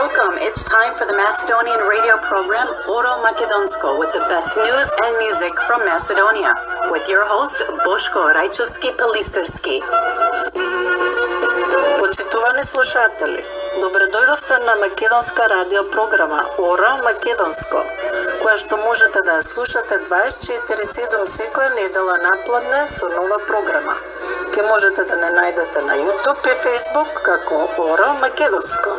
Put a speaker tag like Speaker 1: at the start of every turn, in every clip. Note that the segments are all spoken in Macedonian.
Speaker 1: Welcome. It's time for the Macedonian radio program Oro Makedonsko with the best news and music from Macedonia with your host Boško Rajčovski-Peliserski.
Speaker 2: Почитувани слушатели, добре дојдовте на македонска радио програма Ора Македонско, која што можете да ја слушате 24/7 секоја недела напладне со нова програма. Ке можете да не најдете на YouTube и Facebook како Ора Македонско.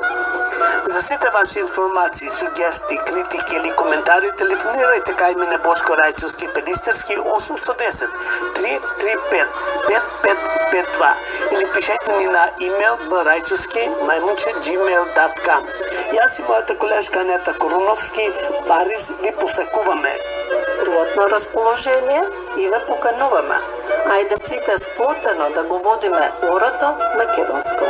Speaker 3: За сите ваши информации, сугестии, критики или коментари телефонирајте кај мене Бошко Рајчовски-Пелистерски 810 335 5552 или пишете ни на имейл baraјчовски@gmail.com. Јас и мојата колешка Анета Коруновски Париз ви посакуваме.
Speaker 2: Пријатно расположение и ве покануваме. Ајде сите сплотено да го водиме орото македонско.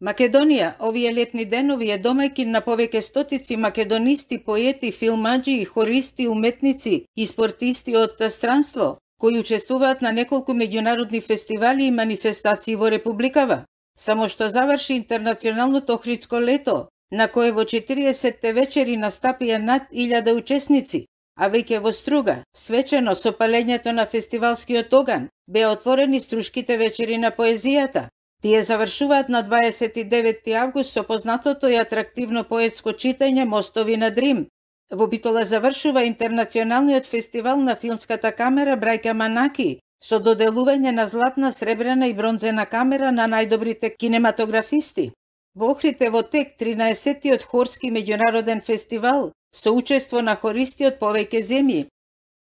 Speaker 4: Македонија, овие летни денови е домајкин на повеќе стотици македонисти, поети, филмаџи, хористи, уметници и спортисти од странство, кои учествуваат на неколку меѓународни фестивали и манифестации во Републикава. Само што заврши интернационалното Охридско лето, на кое во 40-те вечери настапија над 1000 учесници, а веќе во Струга, свечено со палењето на фестивалскиот оган, беа отворени струшките вечери на поезијата. Тие завршуваат на 29 август со познатото и атрактивно поетско читање Мостови над Рим. Во Битола завршува интернационалниот фестивал на филмската камера Брајка Манаки со доделување на златна, сребрена и бронзена камера на најдобрите кинематографисти. Во Охрид е во тек 13-тиот хорски меѓународен фестивал со учество на хористи од повеќе земји.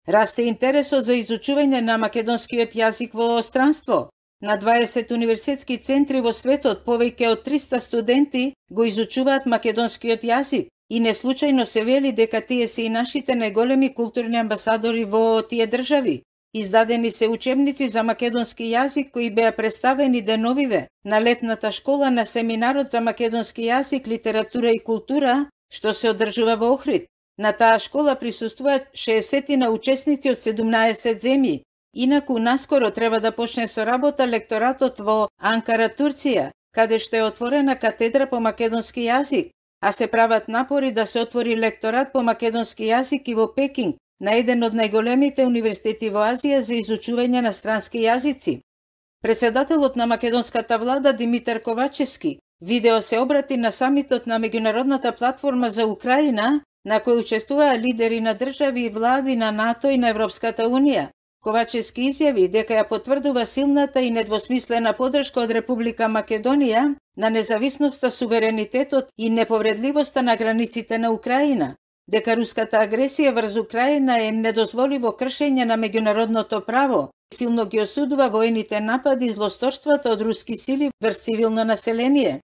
Speaker 4: Расте интересот за изучување на македонскиот јазик во странство. На 20 университетски центри во светот повеќе од 300 студенти го изучуваат македонскиот јазик и неслучајно се вели дека тие се и нашите најголеми културни амбасадори во тие држави. Издадени се учебници за македонски јазик кои беа представени деновиве на летната школа на семинарот за македонски јазик, литература и култура, што се одржува во Охрид. На таа школа присуствуваат 60 учесници од 17 земји. Инаку наскоро треба да почне со работа лекторатот во Анкара, Турција, каде што е отворена катедра по македонски јазик, а се прават напори да се отвори лекторат по македонски јазик и во Пекинг, на еден од најголемите универзитети во Азија за изучување на странски јазици. Председателот на македонската влада Димитар Ковачевски видео се обрати на самитот на меѓународната платформа за Украина, на кој учествуваа лидери на држави и влади на НАТО и на Европската унија. Ковачевски изјави дека ја потврдува силната и недвосмислена поддршка од Република Македонија на независноста, суверенитетот и неповредливоста на границите на Украина, дека руската агресија врз Украина е недозволиво кршење на меѓународното право, силно ги осудува воените напади и злосторствата од руски сили врз цивилно население.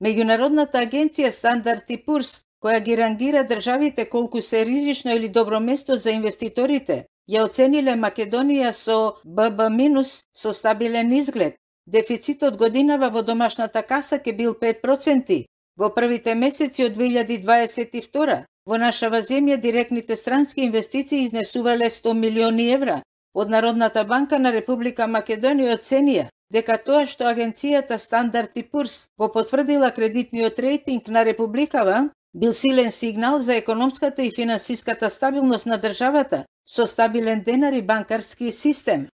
Speaker 4: Меѓународната агенција Стандард и Пурс, која ги рангира државите колку се ризично или добро место за инвеститорите, ја оцениле Македонија со BB- со стабилен изглед. Дефицитот годинава во домашната каса ке бил 5%. Во првите месеци од 2022 во нашава земја директните странски инвестиции изнесувале 100 милиони евра. Од Народната банка на Република Македонија оценија дека тоа што агенцијата Стандард и Пурс го потврдила кредитниот рейтинг на Републикава бил силен сигнал за економската и финансиската стабилност на државата со стабилен денар и банкарски систем.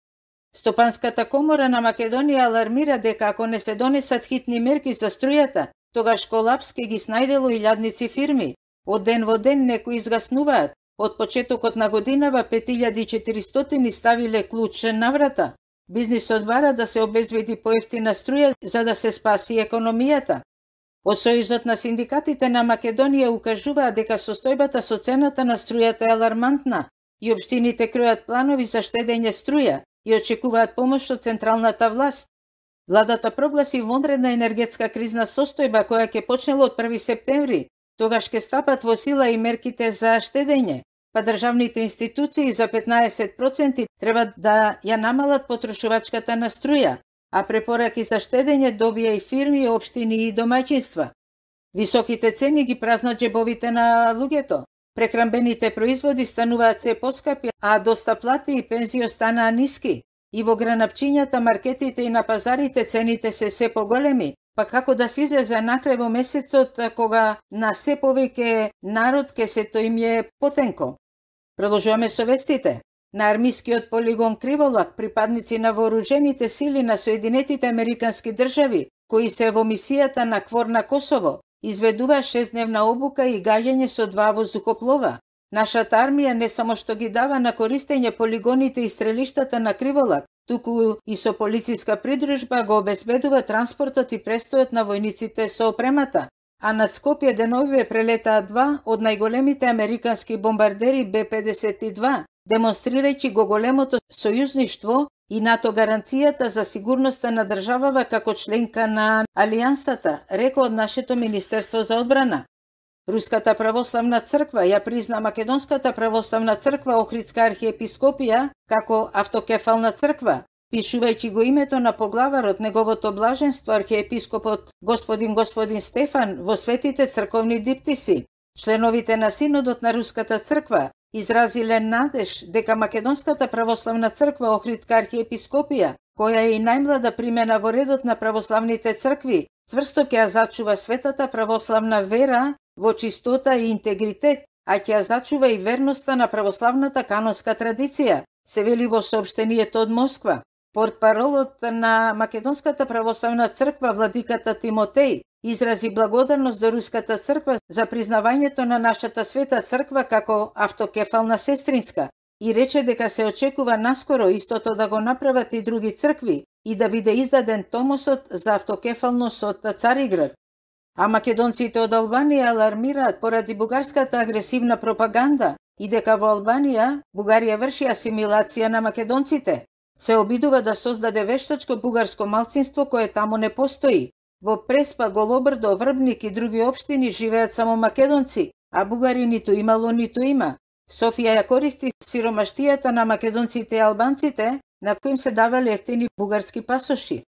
Speaker 4: Стопанската комора на Македонија алармира дека ако не се донесат хитни мерки за струјата, тогаш колапс ке ги снајдело илјадници фирми. Од ден во ден некои изгаснуваат. Од почетокот на годинава 5400 ставиле клуч на врата. Бизнисот бара да се обезбеди поевтина струја за да се спаси економијата. Од Сојузот на синдикатите на Македонија укажуваа дека состојбата со цената на струјата е алармантна и општините кројат планови за штедење струја и очекуваат помош од централната власт. Владата прогласи вонредна енергетска кризна состојба која ќе почнела од 1 септември, тогаш ќе стапат во сила и мерките за штедење, па државните институции за 15% треба да ја намалат потрошувачката на струја, а препораки за штедење добија и фирми, општини и домаќинства. Високите цени ги празнат џебовите на луѓето. Прехранбените производи стануваат се поскапи, а доста плати и пензии останаа ниски. И во гранапчињата, маркетите и на пазарите цените се поголеми, па како да се излезе накрај во месецот кога на се повеќе народ ке сето им е потенко. Продолжуваме со вестите. На армискиот полигон Криволак, припадници на вооружените сили на Соединетите Американски држави, кои се во мисијата на КФОР на Косово, изведува 6-дневна обука и гаѓање со 2 воздухоплова. Нашата армија не само што ги дава на користење полигоните и стрелиштата на Криволак, туку и со полициска придружба го обезбедува транспортот и престојот на војниците со опремата. А над Скопје деновиве прелетаа 2 од најголемите американски бомбардери Б-52, демонстрирајќи го големото сојузништво и НАТО гаранцијата за сигурноста на државава како членка на Алијансата, рекол од нашето Министерство за одбрана. Руската православна црква ја призна Македонската православна црква Охридска архиепископија како автокефална црква, пишувајќи го името на поглаварот неговото блаженство архиепископот господин Стефан во светите црковни диптиси. Членовите на Синодот на Руската црква изразиле надеж дека Македонската православна црква Охридска архиепископија, која е и најмлада примена во редот на православните цркви, цврсто ќе ја зачува светата православна вера во чистота и интегритет, а ќе ја зачува и верноста на православната канонска традиција, се вели во соопштението од Москва. Портпаролот на Македонската православна црква владиката Тимотеј изрази благодарност до Руската црква за признавањето на нашата света црква како автокефална сестринска и рече дека се очекува наскоро истото да го направат и други цркви и да биде издаден томосот за автокефалност од Цариград. А македонците од Албанија алармираат поради бугарската агресивна пропаганда и дека во Албанија Бугарија врши асимилација на македонците. Се обидува да создаде вештачко бугарско малцинство кое таму не постои. Во Преспа, Голобрдо, Врбник и други општини живеат само македонци, а бугари ниту имало, ниту има. Софија ја користи сиромаштијата на македонците и албанците, на кои им се давале ефтини бугарски пасоши.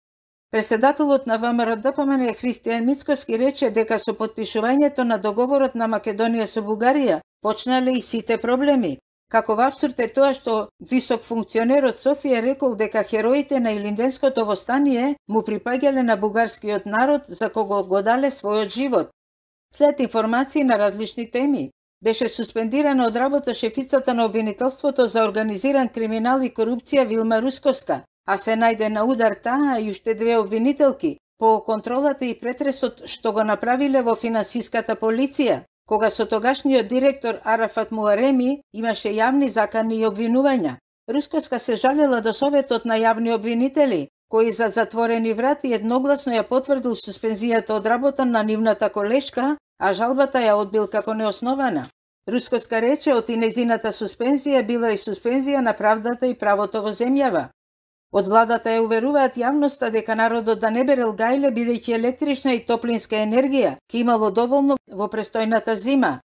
Speaker 4: Преседателот на ВМРО-ДПМН Христијан Мицкоски рече дека со потпишувањето на договорот на Македонија со Бугарија почнале и сите проблеми. Каков апсурд е тоа што висок функционер од Софија рекол дека хероите на Илинденското востание му припаѓале на бугарскиот народ за кого го дале својот живот. След информации на различни теми, беше суспендирана од работа шефицата на обвинителството за организиран криминал и корупција Вилма Рускоска, а се најде на удар таа и уште 2 обвинителки по контролата и претресот што го направиле во финансиската полиција, кога со тогашниот директор Арафат Муареми имаше јавни закани и обвинувања. Рускоска се жалела до Советот на јавни обвинители, кои за затворени врати едногласно ја потврдил суспензијата од работа на нивната колешка, а жалбата ја одбил како неоснована. Рускоска рече од незината суспензија била и суспензија на правдата и правото во земјава. Од владата ја уверуваат јавноста дека народот да не берел гајле бидејќи електрична и топлинска енергија ке имало доволно во престојната зима.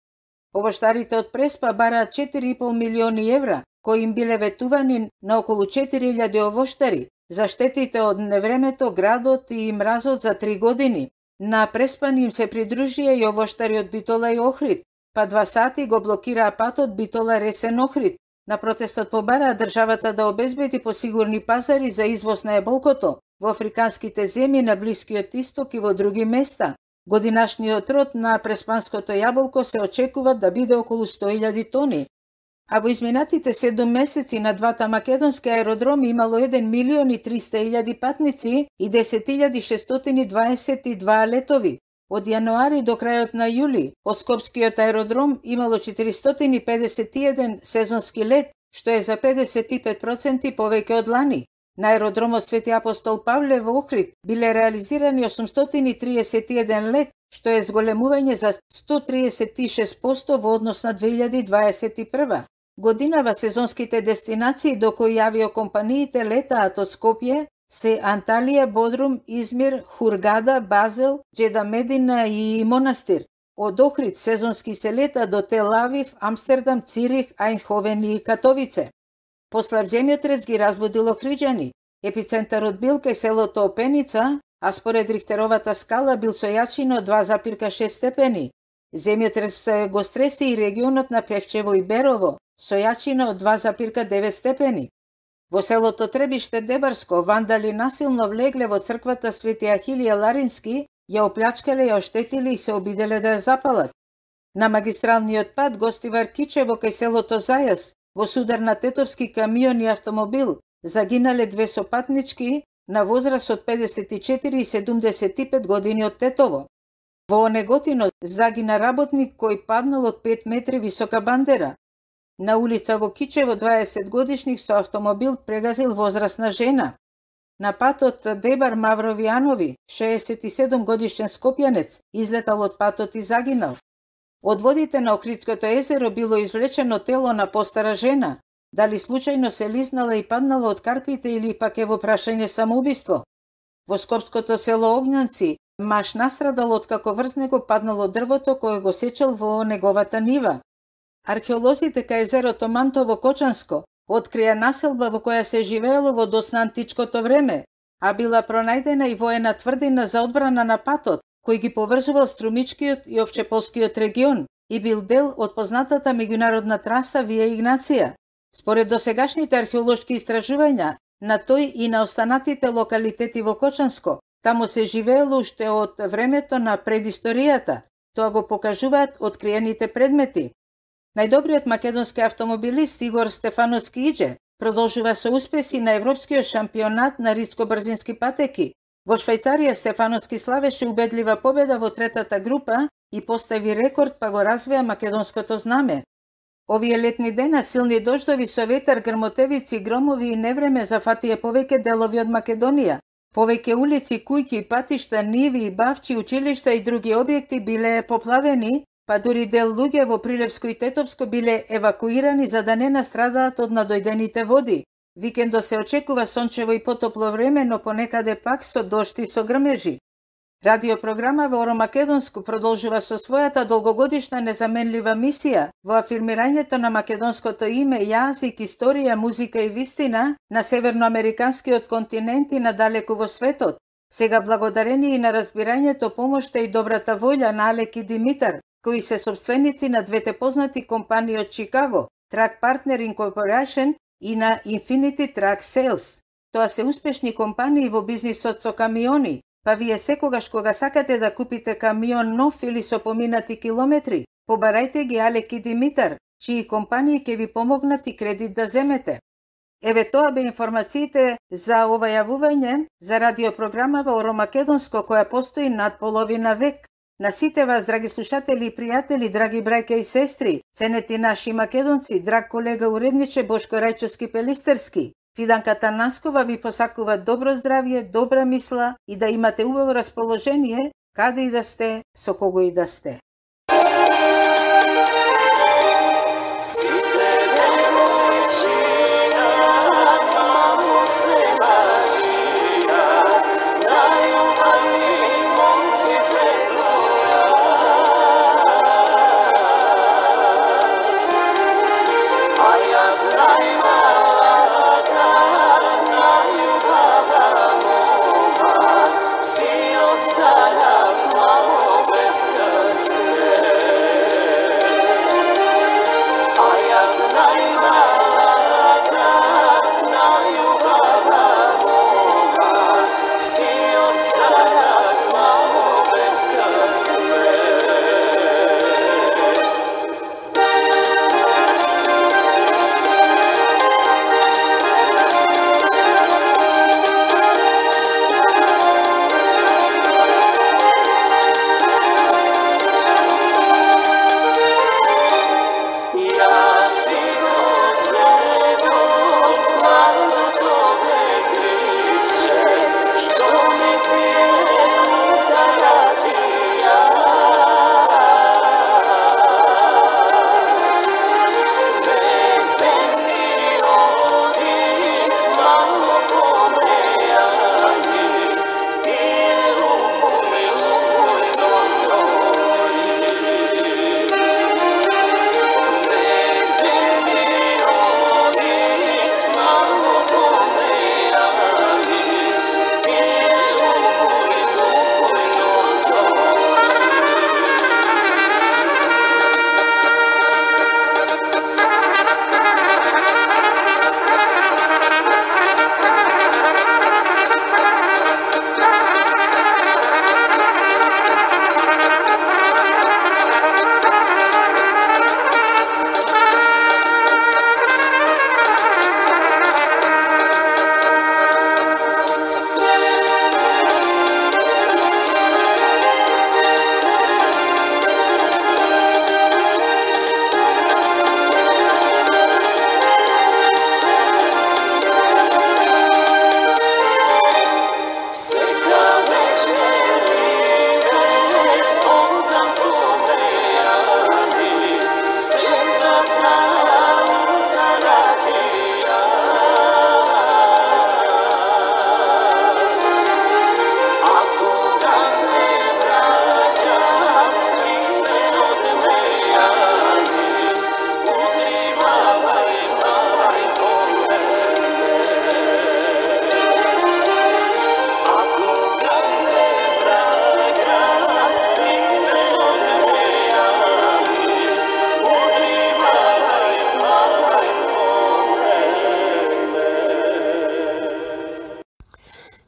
Speaker 4: Овоштарите од Преспа бараат 4,5 милиони евра, кои им биле ветувани на околу 4000 овоштари за штетите од невремето, градот и мразот за 3 години. На Преспани им се придружија и овоштари од Битола и Охрид, па 2 сати го блокираа патот Битола Ресен Охрид. На протестот побараа државата да обезбеди посигурни пазари за извоз на еболкото во африканските земји на Блискиот Исток и во други места. Годинашниот род на преспанското јаболко се очекува да биде околу 100.000 тони. А во изминатите 7 месеци на двата македонски аеродроми имало 1.300.000 патници и 10.622 летови. Од јануари до крајот на јули, од Скопскиот аеродром имало 451 сезонски лет, што е за 55% повеќе од лани. На аеродромот Свети Апостол Павле во Охрид биле реализирани 831 лет, што е зголемување за 136% во однос на 2021 годинава. Сезонските дестинации до кои авиокомпаниите летаат од Скопје се Анталија, Бодрум, Измир, Хургада, Базел, Џеда Медина и Монастир. Од Охрид сезонски се лета до Тел Авив, Амстердам, Цирих, Ајнховен и Катовице. Послав земјотрес ги разбудил охриџани. Епицентарот бил кај селото Опеница, а според Рихтеровата скала бил со јачина од 2,6 степени. Земјотрес го стреси и регионот на Пехчево и Берово, со јачина од 2,9 степени. Во селото Требиште Дебарско вандали насилно влегле во црквата Свети Ахилија Ларински, ја оплячкале, ја оштетили и се обиделе да ја запалат. На магистралниот пат Гостивар Кичево кај селото Зајас, во судар на тетовски камион и автомобил, загинале две сопатнички на возраст од 54 и 75 години од Тетово. Во Онеготино загина работник кој паднал од 5 метри висока бандера. На улица во Кичево 20 годишник со автомобил прегазил возрастна жена. На патот Дебар Мавровијанови, 67 годишен скопјанец, излетал од патот и загинал. Од водите на Охридското езеро било извлечено тело на постара жена. Дали случајно се лизнала и паднала од карпите или пак е во прашање самоубиство. Во скопското село Огњанци, маж настрадал откако врз него паднало дрвото кое го сечел во неговата нива. Археолозите кај езерото Мантово Кочанско открија населба во која се живеело во доцна античкото време, а била пронајдена и воена тврдина за одбрана на патот, кој ги поврзувал Струмичкиот и Овчеполскиот регион и бил дел од познатата меѓународна траса Вија Игнација. Според досегашните археолошки истражувања, на тој и на останатите локалитети во Кочанско, таму се живеело уште од времето на предисторијата. Тоа го покажуваат откриените предмети. Најдобриот македонски автомобилист Игор Стефановски Иџе продолжува со успеси на Европскиот шампионат на ридско-брзински патеки. Во Швајцарија Стефановски славеше убедлива победа во третата група и постави рекорд, па го развија македонското знаме. Овие летни дена силни дождови со ветар, грмотевици, громови и невреме зафатија повеќе делови од Македонија. Повеќе улици, кујки, патишта, ниви, бавчи, училишта и други објекти биле поплавени, па дури дел луѓе во Прилепско и Тетовско биле евакуирани за да не настрадаат од надојдените води. Викендо се очекува сончево и потопло време, но понекаде пак со дожд и со грмежи. Радиопрограма во Оро Македонско продолжува со својата долгогодишна незаменлива мисија во афирмирањето на македонското име, јазик, историја, музика и вистина на северноамериканскиот континент и надалеку во светот. Сега благодарение и на разбирањето, помошта и добрата волја на Алек и Димитар, кои се собственици на двете познати компании од Чикаго, Track Partner Incorporation и на Infinity Track Sales. Тоа се успешни компании во бизнисот со камиони, па вие секогаш кога сакате да купите камион нов или со поминати километри, побарајте ги Алек и Димитар, чии компании ќе ви помогнат и кредит да земете. Еве тоа бе информациите за ова јавување за радиопрограма во Оро Македонско која постои над половина век. На сите вас, драги слушатели и пријатели, драги браќа и сестри, ценети наши македонци, драг колега уредниче Бошко Рајчовски Пелистерски, Фиданка Танаскова ви посакува добро здравје, добра мисла и да имате убаво расположение, каде и да сте, со кого и да сте.
Speaker 5: Станав мамо без красти.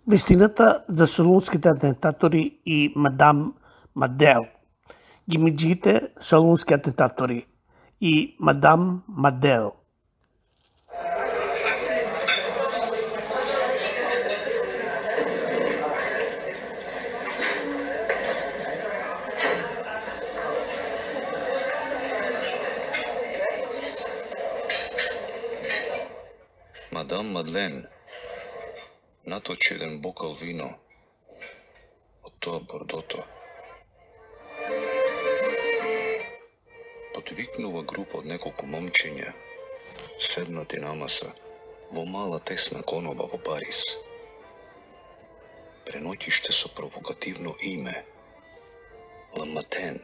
Speaker 3: Вистината за солунските атентатори и мадам Мадел. Гимиджиите солунски атентатори и мадам Мадел.
Speaker 5: Мадам Мадлен наточи еден бокал вино од тоа бордото. Потвикнува група од неколку момчиња, седнати на маса, во мала тесна коноба во Париз. Преноќиште со провокативно име Ла Матен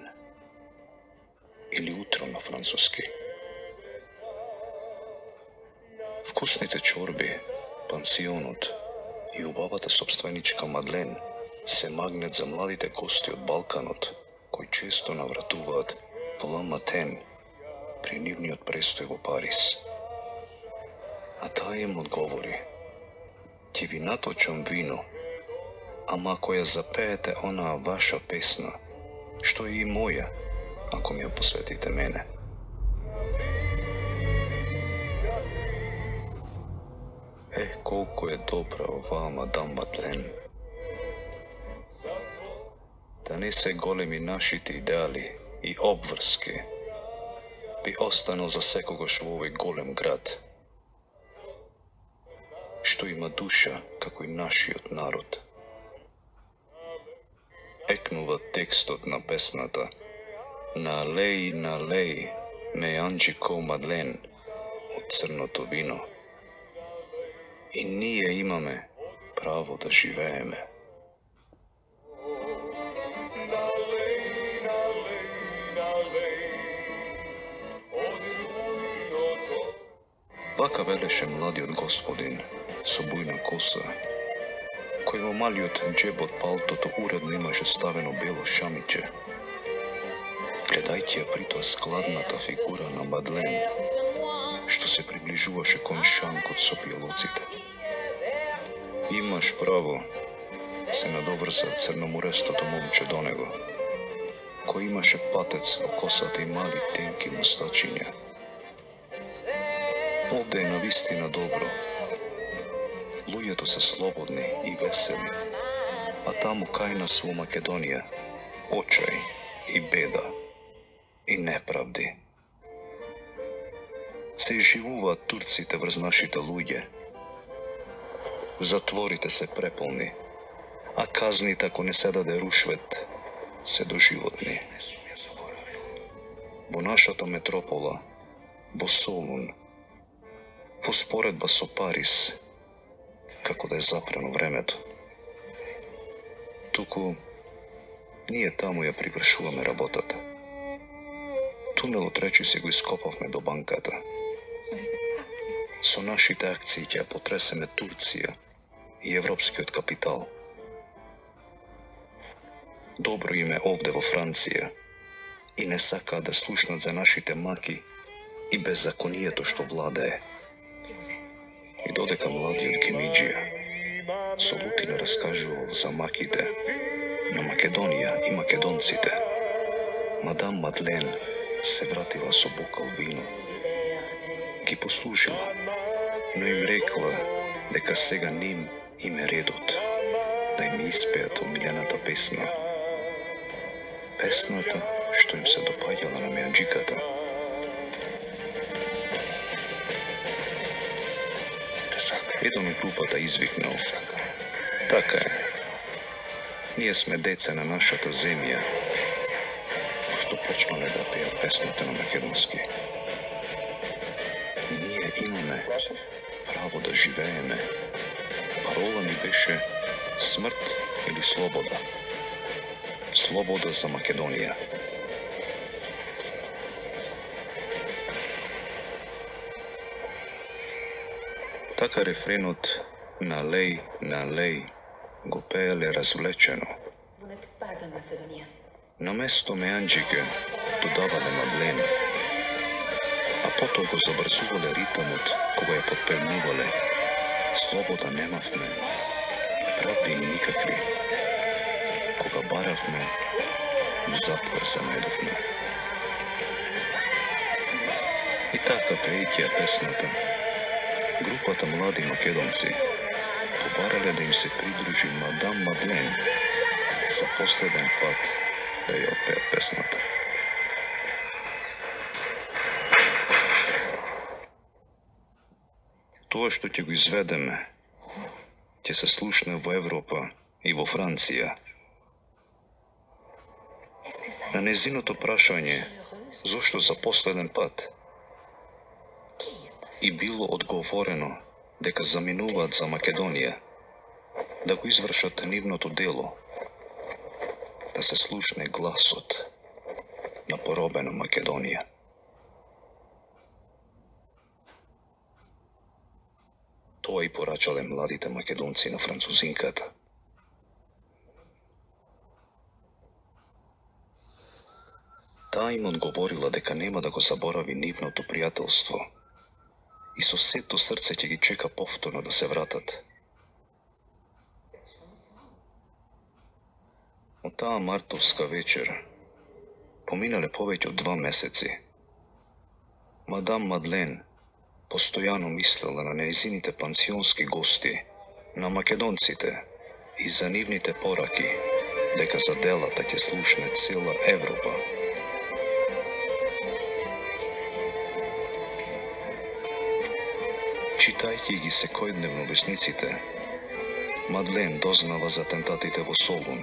Speaker 5: или утро на француски. Вкусните чорби, пансионот и убавата собственичка Мадлен се магнет за младите гости од Балканот, кои често навратуваат во Ла Матен при нивниот престој во Париз. А таа им одговори: ќе ви наточам вино, ама ако ја запеете онаа ваша песна, што е и моја, ако ми ја посветите мене. Колку е добра оваа мадам Мадлен. Да не се големи нашите идеали и обврски, би останал за секогаш во овој голем град, што има душа како и нашиот народ. Екнува текстот на песната На алеи, ме Анџико Мадлен од црното вино. И ние имаме право да живееме. Вака велеше младиот господин со бујна коса, кој во малиот џеб од палтото уредно имаше ставено бело шамиче, гледајќи ја притоа складната фигура на Мадлен, што се приближуваше кон шанкот со пијалоците. Имаш право, се надоврза црноморестото момче до него, кој имаше патец во косата и мали тенки мустачиња. Овде е навистина добро. Луѓето се слободни и весели, а таму кај нас во Македонија очај и беда и неправди. Се изживуваат турците врз нашите луѓе. Затворите се преполни, а казните, ако не се даде рушвет, се доживотни. Во нашата метропола, во Солун, во споредба со Париз, како да е запрено времето. Туку, ние таму ја привршуваме работата. Тунелот речи се го ископавме до банката. Со нашите акции ќе ја потресеме Турција и европскиот капитал. Добро име овде во Франција и не сакаат да слушнат за нашите маки и беззаконието што владее. И додека младиот Гемиџија со лутина раскажувал за маките на Македонија и македонците, мадам Мадлен се вратила со бокал вино. Ги послушала, но им рекла дека сега ним им е редот да им испеат омилената песна. Песната што им се допаѓала на меанџиката. Еден од групата извикнал: така е, ние сме деца на нашата земја, што почнале да пеат песната на македонски. И ние имаме право да живееме. Парола ни беше смрт или слобода. Слобода за Македонија. Така рефренот на лей го пееле развлечено. На место меанџике додавале Мадлен, а потоа го забрзувале ритамот кога ја подпевнувале. Слобода немавме, правдини никакви. Кога баравме, в затвор се најдовме. И така прејќа песната, групата млади македонци побарале да им се придружи мадам Мадлен за последен пат да ја отпеат песната. Тоа што ќе го изведеме, ќе се слушне во Европа и во Франција. На незиното прашање, зошто за последен пат, и било одговорено дека заминуваат за Македонија, да го извршат нивното дело, да се слушне гласот на поробена Македонија. Тоа и порачале младите македонци на французинката. Таа им одговорила дека нема да го заборави нивното пријателство и со сето срце ќе ги чека повторно да се вратат. Од таа мартовска вечер поминале повеќе од 2 месеци. Мадам Мадлен постојано мислела на нејзините пансионски гости, на македонците и за нивните пораки, дека за делата ќе слушне цела Европа. Читајќи ги секојдневно весниците, Мадлен дознава за атентатите во Солун,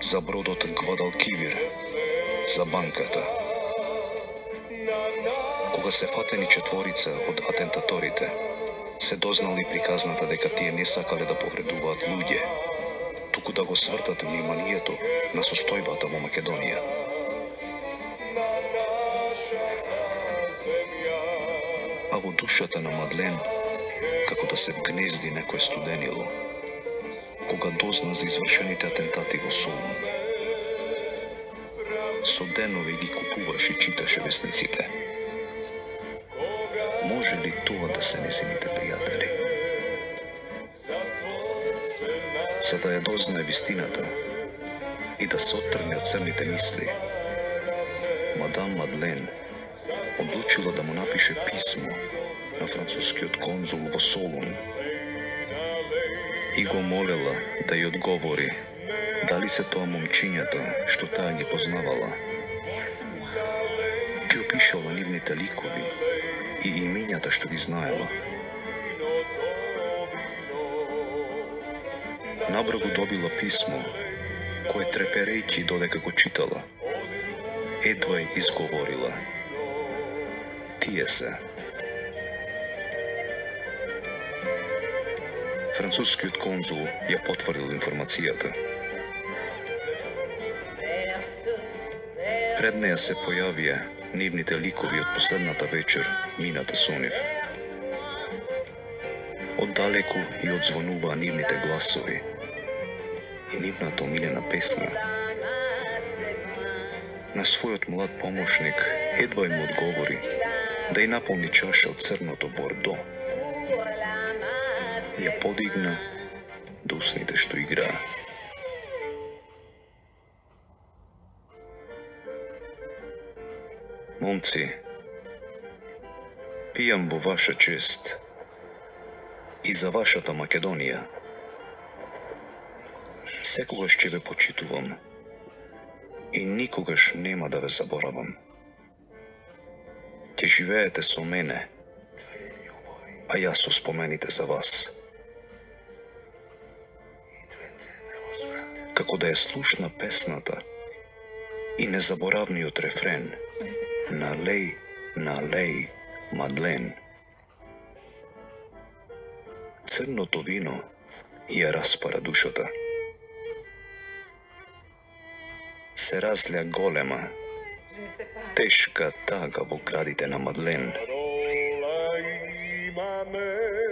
Speaker 5: за бродот Гвадалкивир, за банката. Кога се фатени 4 од атентаторите, се дознали приказната дека тие не сакале да повредуваат луѓе, туку да го свртат вниманието на состојбата во Македонија. А во душата на Мадлен, како да се вгнезди некое студенило, кога дозна за извршените атентати во Солун. Со денови ги купуваше и читаше весниците. Може ли тоа да се незините пријатели? За да ја дознае вистината и да се оттргне од црните мисли, мадам Мадлен одлучила да му напише писмо на францускиот конзул во Солун и го молела да ја одговори дали се тоа момчињата што таа ги познавала. Ги опишала нивните ликови и имињата што ги знаела. Набрзо добила писмо, кое треперејќи додека го читала, едвај изговорила: тие се. Францускиот конзул ја потврдил информацијата. Пред неја се појавија нивните ликови од последната вечер мината со нив. Оддалеку и одзвонуваа нивните гласови и нивната омилена песна. На својот млад помошник едва им одговори да ја наполни чаша од црното бордо. Ја подигна до усните што играа. Момци, пијам во ваша чест и за вашата Македонија. Секогаш ќе ве почитувам и никогаш нема да ве заборавам. Ќе живеете со мене, а јас со спомените за вас. Како да ја слушна песната и незаборавниот рефрен Налеј, Мадлен. Црното вино ја распара душата. Се разлеа голема, тешка тага во градите на Мадлен.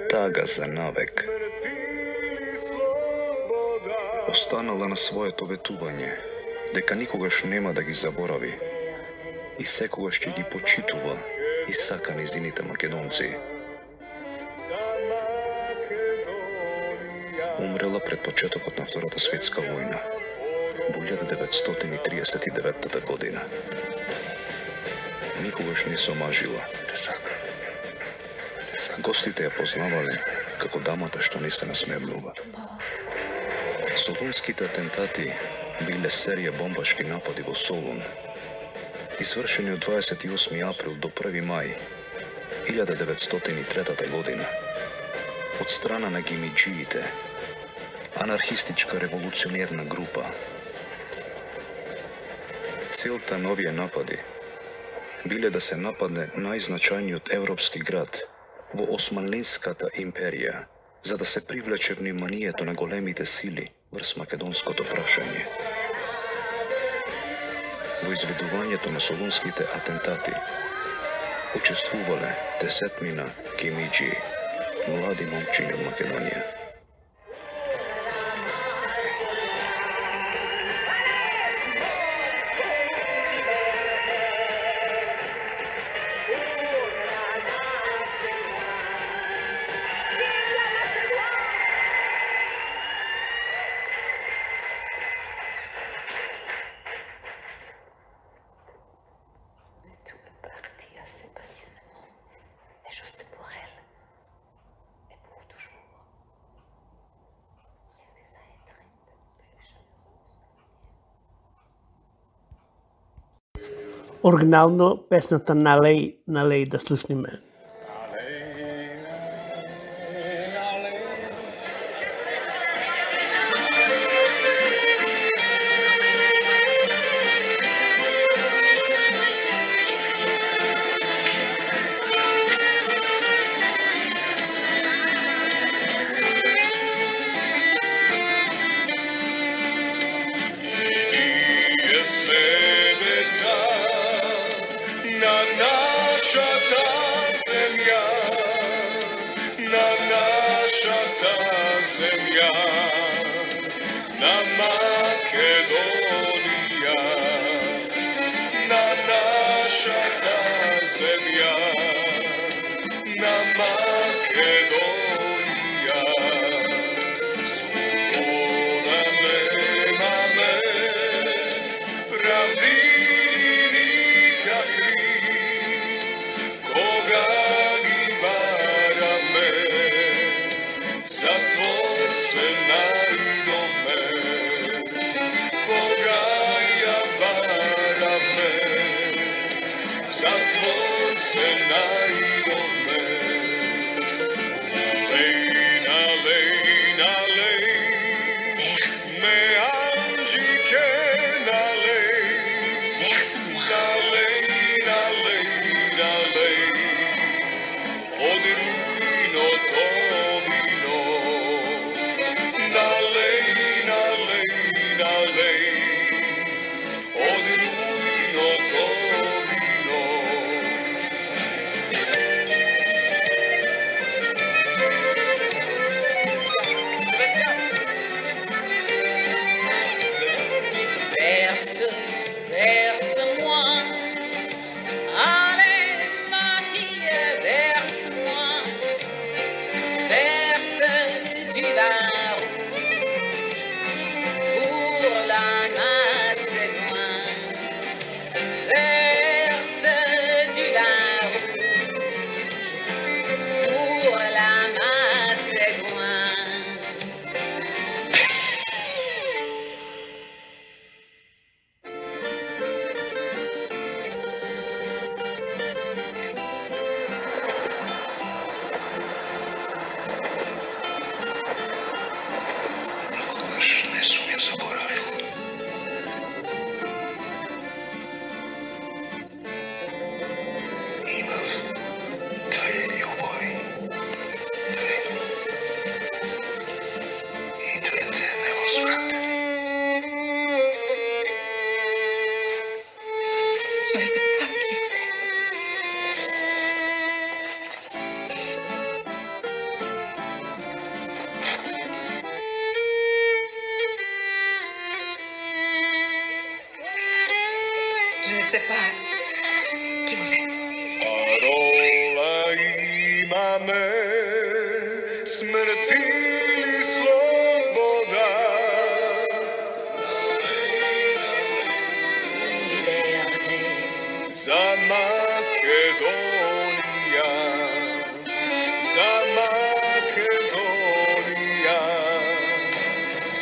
Speaker 5: Тага за навек. Останала на своето ветување, дека никогаш нема да ги заборави и секогаш ќе ги почитува и сака незините македонци. умрела пред почетокот на Втората светска војна во 1939 година. Никогаш не се омажила. Гостите ја познавале како дамата што не се насмевнува. Солунските атентати биле серија бомбашки напади во Солун, извршени од 28 април до 1 мај 1903 година од страна на гимиџиите, анархистичка револуционерна група. Целта на овие напади биле да се нападне најзначајниот европски град во Османлинската империја, за да се привлече вниманието на големите сили врз македонското прашање. Во изведувањето на солунските атентати учествувале десетмина гимиџи, млади момчиња од Македонија.
Speaker 3: Оригинално песната Налеј да слушниме.
Speaker 6: Je ne sais pas qui vous êtes.
Speaker 7: Parola imame, smrti li slovo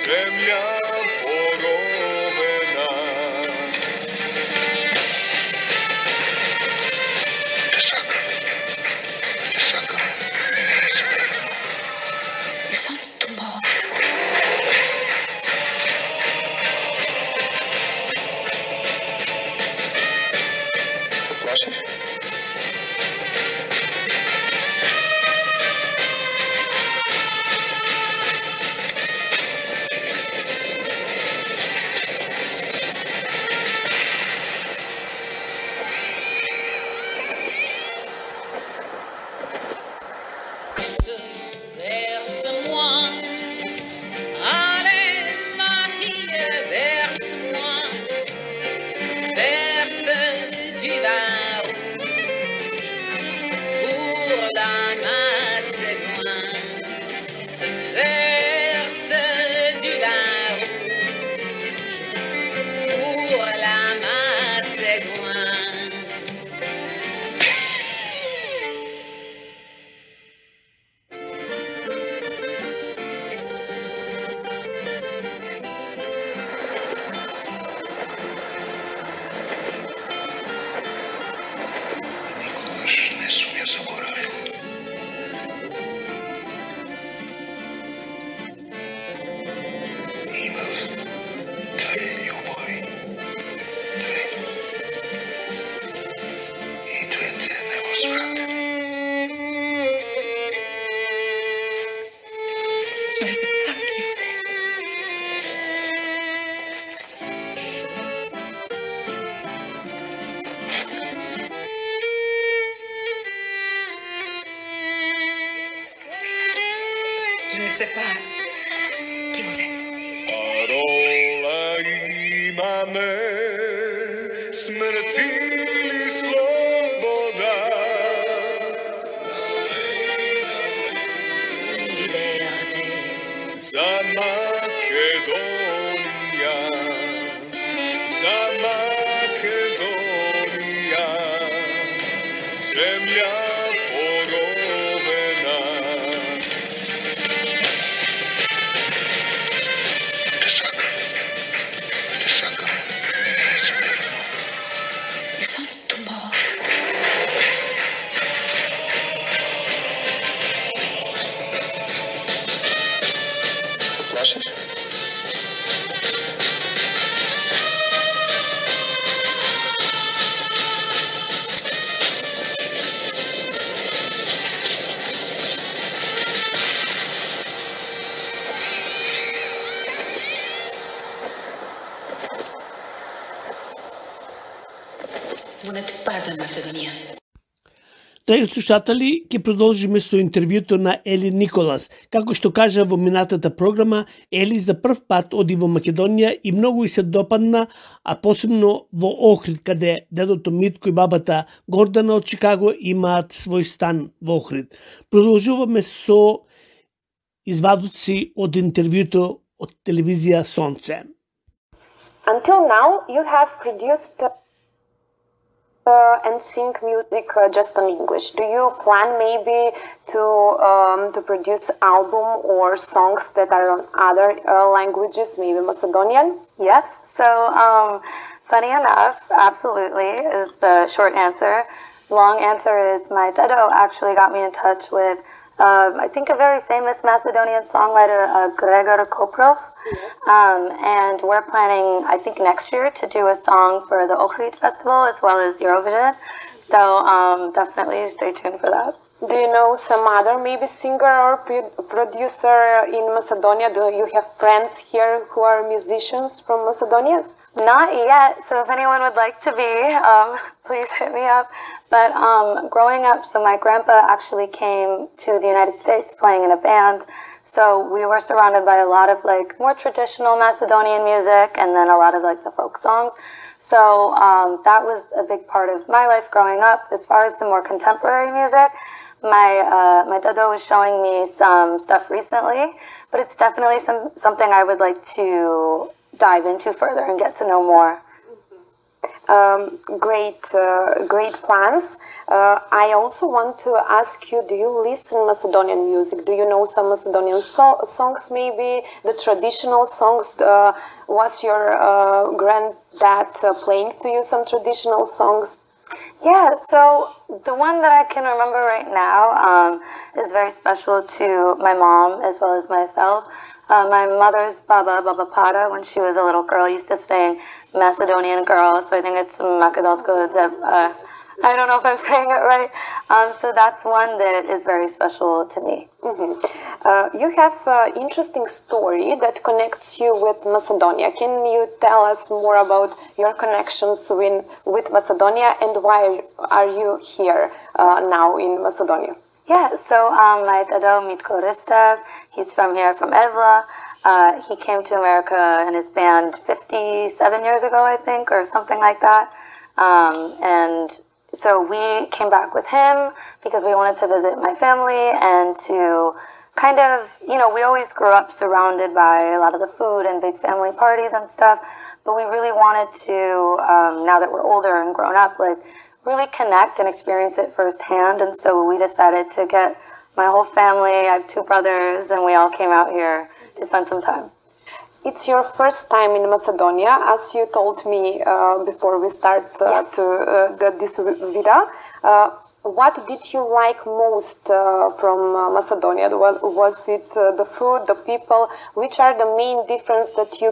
Speaker 7: земја поровена. Те сакам неизмерно.
Speaker 6: Лисан тумор.
Speaker 7: Се плашиш?
Speaker 8: Verse-moi, allez ma fille, verse-moi, verse du vin rouge pour la Macédoine, verse du vin rouge pour la Macédoine.
Speaker 7: Никогаш не сум ја заборавил. Имав две љубови. Две. И двете невозвратени.
Speaker 6: Je ne sais pas qui vous êtes. Je ne sais pas qui vous êtes.
Speaker 7: Parola имаме, смрт или слобода.
Speaker 6: Liberté.
Speaker 7: За Македонија, за Македонија, земја поровена. Те сакам неизмерно.
Speaker 6: Лисан тумор.
Speaker 7: Се плашиш?
Speaker 6: Vous n'êtes pas un Macédonien.
Speaker 3: Драги слушатели, ќе продолжиме со интервјуто на Ели Николас. Како што кажа во минатата програма, Ели за прв пат оди во Македонија и многу и се допадна, а посебно во Охрид, каде дедото Митко и бабата Гордана од Чикаго имаат свој стан во Охрид. Продолжуваме со извадоци од интервјуто од телевизија Сонце.
Speaker 9: Until now, you have produced and sing music just in English. Do you plan maybe to produce album or songs that are on other languages, maybe Macedonian?
Speaker 1: Yes, so funny enough, absolutely is the short answer. Long answer is my dedo actually got me in touch with I think a very famous Macedonian songwriter, Gregor Koprov. And we're planning, I think next year, to do a song for the Ohrid Festival as well as Eurovision. So definitely stay tuned for that.
Speaker 9: Do you know some other maybe singer or producer in Macedonia? Do you have friends here who are musicians from Macedonia?
Speaker 1: Not yet, so if anyone would like to be, please hit me up. But growing up, so my grandpa actually came to the United States playing in a band, so we were surrounded by a lot of like more traditional Macedonian music and then a lot of like the folk songs. So that was a big part of my life growing up. As far as the more contemporary music, my dado was showing me some stuff recently, but it's definitely something I would like to dive into further and get to know more.
Speaker 9: Great plans. I also want to ask you, do you listen Macedonian music? Do you know some Macedonian songs, maybe the traditional songs? Was your granddad playing to you some traditional songs?
Speaker 1: Yeah, so the one that I can remember right now is very special to my mom as well as myself. My mother's Baba Pada, when she was a little girl, used to sing Macedonian Girl, so I think it's Makedonsko. I don't know if I'm saying it right. So that's one that is very special to me.
Speaker 9: You have an interesting story that connects you with Macedonia. Can you tell us more about your connections with Macedonia and why are you here now in Macedonia?
Speaker 1: Yeah, so my dado Mitko Ristev, he's from here, from Evla. He came to America in his band 57 years ago, I think, or something like that. And so we came back with him because we wanted to visit my family and to kind of, you know, we always grew up surrounded by a lot of the food and big family parties and stuff, but we really wanted to, now that we're older and grown up, like, really connect and experience it firsthand. And so we decided to get my whole family. I have 2 brothers, and we all came out here to spend some time.
Speaker 9: It's your first time in Macedonia, as you told me before we start this video. What did you like most from Macedonia? Was it the food, the people? Which are the main difference that you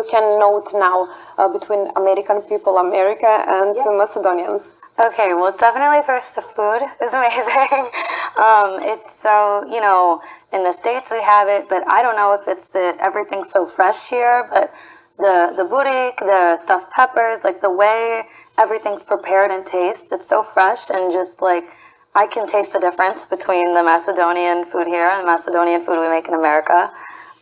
Speaker 9: can note now between American people, America, and Macedonians?
Speaker 1: Okay, well, definitely first the food is amazing. It's so, you know, in the States we have it, but I don't know if it's everything's so fresh here, but the burik, the stuffed peppers, like the way everything's prepared and tastes, it's so fresh, and just like I can taste the difference between the Macedonian food here and the Macedonian food we make in America.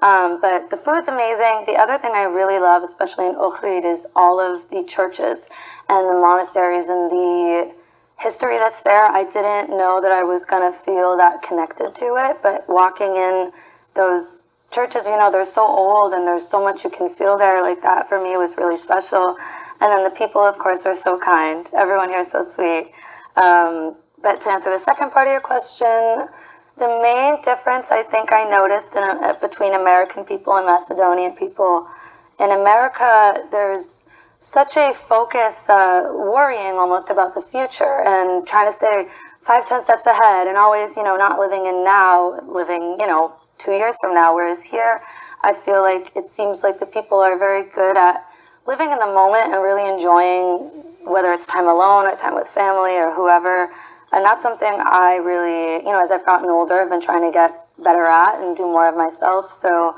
Speaker 1: But the food's amazing. The other thing I really love, especially in Ohrid, is all of the churches and the monasteries and the history that's there. I didn't know that I was going to feel that connected to it, but walking in those churches, you know, they're so old and there's so much you can feel there. Like that for me was really special. And then the people, of course, are so kind. Everyone here is so sweet. But to answer the second part of your question, the main difference I think I noticed between American people and Macedonian people, in America, there's such a focus, worrying almost about the future and trying to stay 5-10 steps ahead and always, you know, not living in now, living, you know, 2 years from now. Whereas here, I feel like it seems like the people are very good at living in the moment and really enjoying, whether it's time alone or time with family or whoever. And that's something I really, you know, as I've gotten older, I've been trying to get better at and do more of myself. So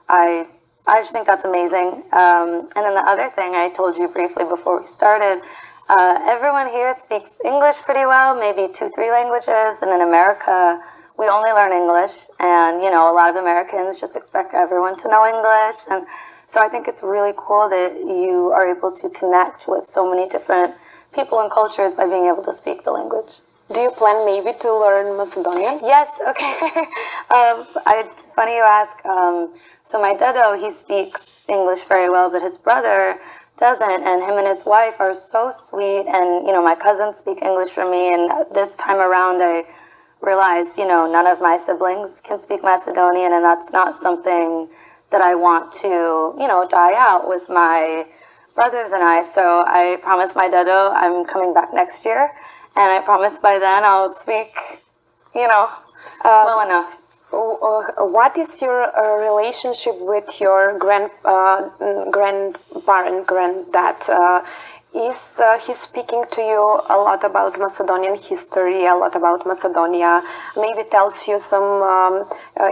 Speaker 1: I just think that's amazing. And then the other thing I told you briefly before we started, everyone here speaks English pretty well, maybe 2-3 languages. And in America, we only learn English. And, you know, a lot of Americans just expect everyone to know English. And so I think it's really cool that you are able to connect with so many different people and cultures by being able to speak the language.
Speaker 9: Do you plan maybe to learn Macedonian?
Speaker 1: Yes, okay. Funny you ask. So my dado, he speaks English very well, but his brother doesn't, and him and his wife are so sweet, and, you know, my cousins speak English for me, and this time around I realized, you know, none of my siblings can speak Macedonian, and that's not something that I want to, you know, die out with my brothers and I. So I promised my dado I'm coming back next year, and I promise by then I'll speak, you know, well enough.
Speaker 9: What is your relationship with your granddad? Is he speaking to you a lot about Macedonian history, a lot about Macedonia? Maybe tells you some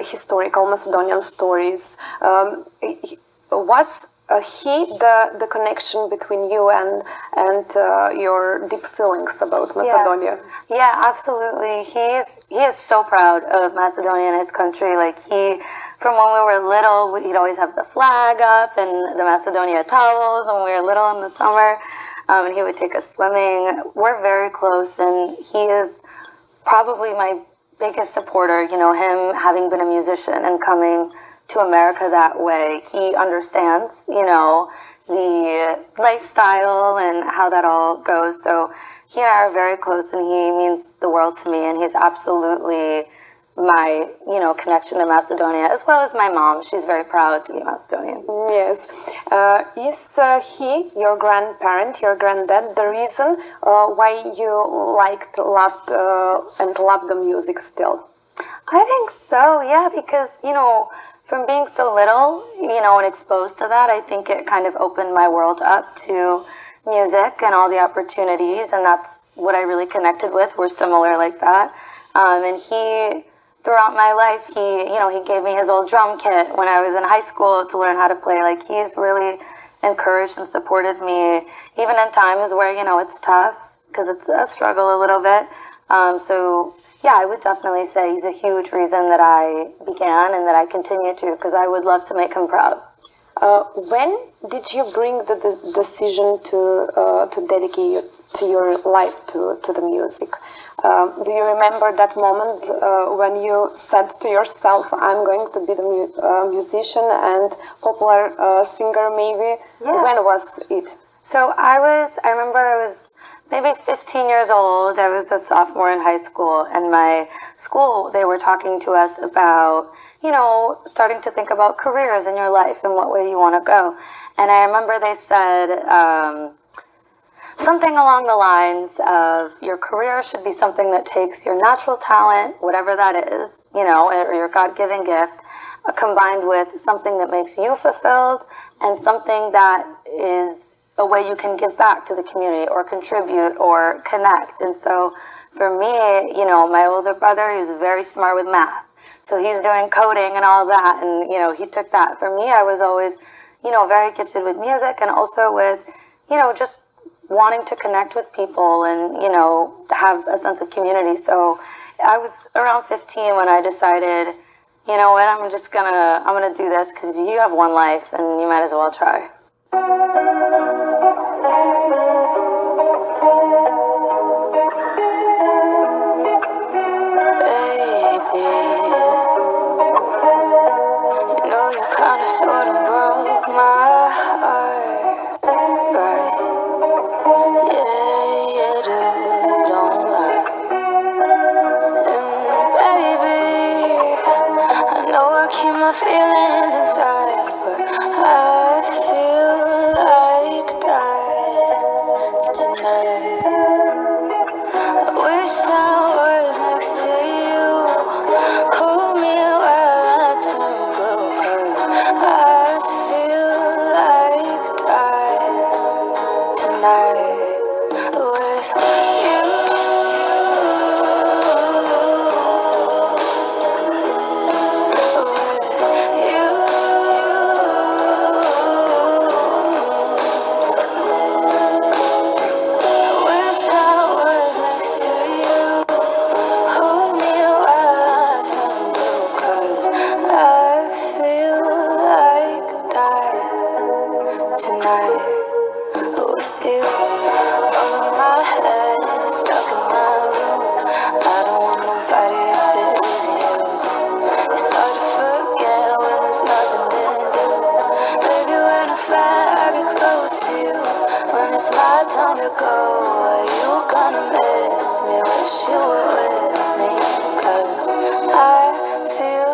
Speaker 9: historical Macedonian stories. Was he the connection between you and your deep feelings about Macedonia?
Speaker 1: Yeah, absolutely. He is so proud of Macedonia and his country. Like from when we were little, he'd always have the flag up and the Macedonia towels when we were little in the summer. And he would take us swimming. We're very close, and he is probably my biggest supporter. You know, him having been a musician and coming to America that way, he understands, you know, the lifestyle and how that all goes. So he and I are very close, and he means the world to me, and he's absolutely my, connection to Macedonia, as well as my mom. She's very proud to be Macedonian.
Speaker 9: Yes. Is he, your grandparent, your granddad, the reason why you love the music still?
Speaker 1: I think so, yeah, because, from being so little, and exposed to that, I think it kind of opened my world up to music and all the opportunities, and that's what I really connected with. We're similar like that. And he, throughout my life, he gave me his old drum kit when I was in high school to learn how to play. Like, he's really encouraged and supported me, even in times where, it's tough, because it's a struggle a little bit. So, yeah, I would definitely say he's a huge reason that I began and that I continue to, because I would love to make him proud.
Speaker 9: When did you bring the decision to dedicate your life to the music? Do you remember that moment when you said to yourself, I'm going to be the musician and popular singer maybe? Yeah. When was it?
Speaker 1: So I remember I was maybe 15 years old. I was a sophomore in high school, and my school, they were talking to us about, starting to think about careers in your life and what way you want to go. And I remember they said something along the lines of your career should be something that takes your natural talent, whatever that is, or your God-given gift, combined with something that makes you fulfilled and something that is a way you can give back to the community or contribute or connect. And so for me, my older brother, he was very smart with math. So he's doing coding and all of that, and, he took that. For me, I was always, very gifted with music and also with, just wanting to connect with people and, have a sense of community. So I was around 15 when I decided, you know what, I'm gonna do this because you have one life and you might as well try.
Speaker 10: Sort of broke my heart, right? Yeah, you do, don't lie. And baby, I know I keep my feelings inside, but I feel like dying tonight. I wish I was next to you, hold me while I turn blue, 'cause I feel like dying tonight with you. Time to go, are you gonna miss me? Wish you were with me, 'cause I feel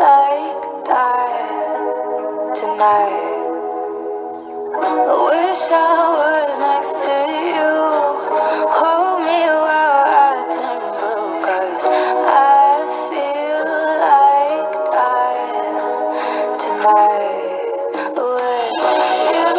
Speaker 10: like dying tonight. I wish I was next to you, hold me while I turn blue, 'cause I feel like dying tonight with you.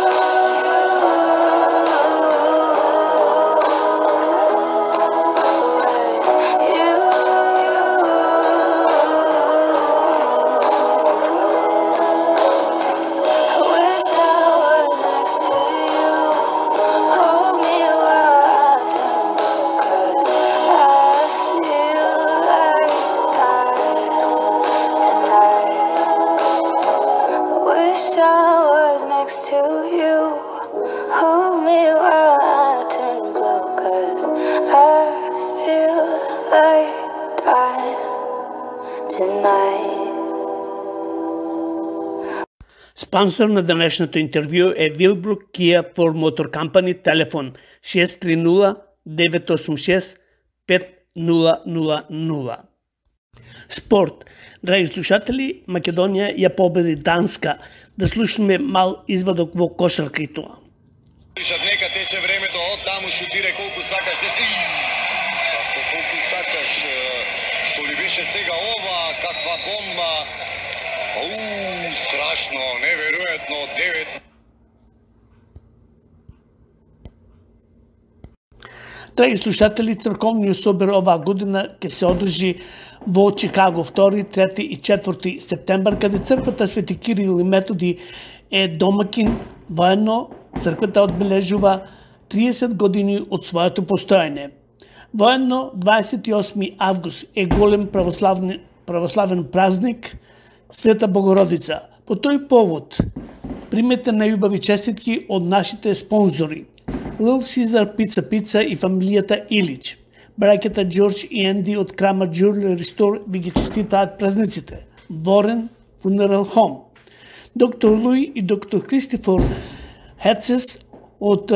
Speaker 3: Спонсор на денешното интервју е Willbrook Kia Ford Motor Company, телефон 630-986-5000. Спорт. Драги слушатели, Македонија ја победи Данска. Да слушаме мал извадок во кошарката.
Speaker 7: Нека тече времето, од таму шутире колку сакаш. Колку сакаш, што ли беше сега ова, каква бомба. Страшно, неверојатно, 9.
Speaker 3: Драги слушатели, црковниот собор оваа година ќе се одржи во Чикаго 2, 3 и 4 септембар, каде црквата Свети Кирил и Методи е домакин. Воедно, црквата одбележува 30 години од своето постојање. Воедно, 28 август е голем православен празник Света Богородица. По тој повод, примете најубави честитки од нашите спонзори. Little Caesar Pizza и фамилијата Илич. Браќата Џорџ и Енди од Крама Jewelry Store ви ги честитаат празниците. Ворен Funeral Home. Доктор Луи и доктор Кристофор Хецес од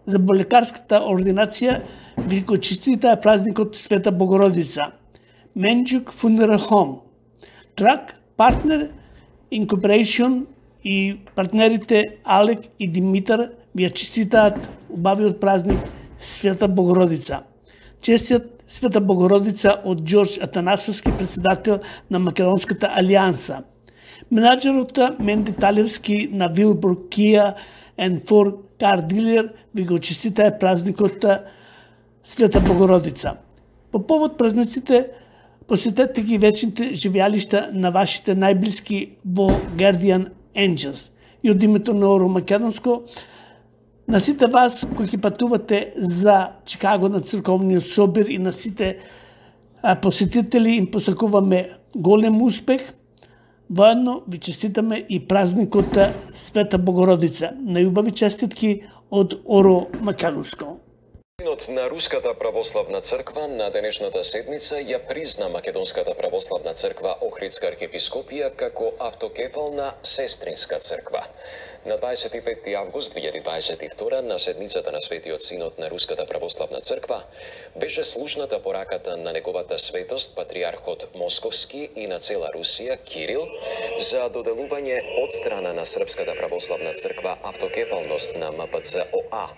Speaker 3: заболекарската ординација ви го честитаат празникот Света Богородица. Менџук Funeral Home. Трак Партнер Incorporation и партнерите Алек и Димитар ви ја честитаат убавиот празник Света Богородица. Честит Света Богородица од Џорџ Атанасовски, председател на Македонската алијанса. Менаџерот Менди Талевски на Willbrook Kia and Ford Car Dealer ви го честитаат празникот Света Богородица. По повод празниците, посетете ги вечните живеалишта на вашите најблиски во Guardian Angels. И од името на Оро Македонско, на сите вас кои ќе патувате за Чикаго на црковниот собор и на сите посетители им посакуваме голем успех. Воедно ви честитаме и празникот Света Богородица. Најубави честитки од Оро Македонско.
Speaker 11: Синот на Руската православна црква на денешната седница ја призна Македонската православна црква Охридска архиепископија како автокефална сестринска црква. На 25 август 2022 на седницата на Светиот Синод на Руската православна црква беше слушната пораката на неговата светост патриархот Московски и на цела Русија Кирил за доделување од страна на Српската православна црква автокефалност на МПЦ-ОА.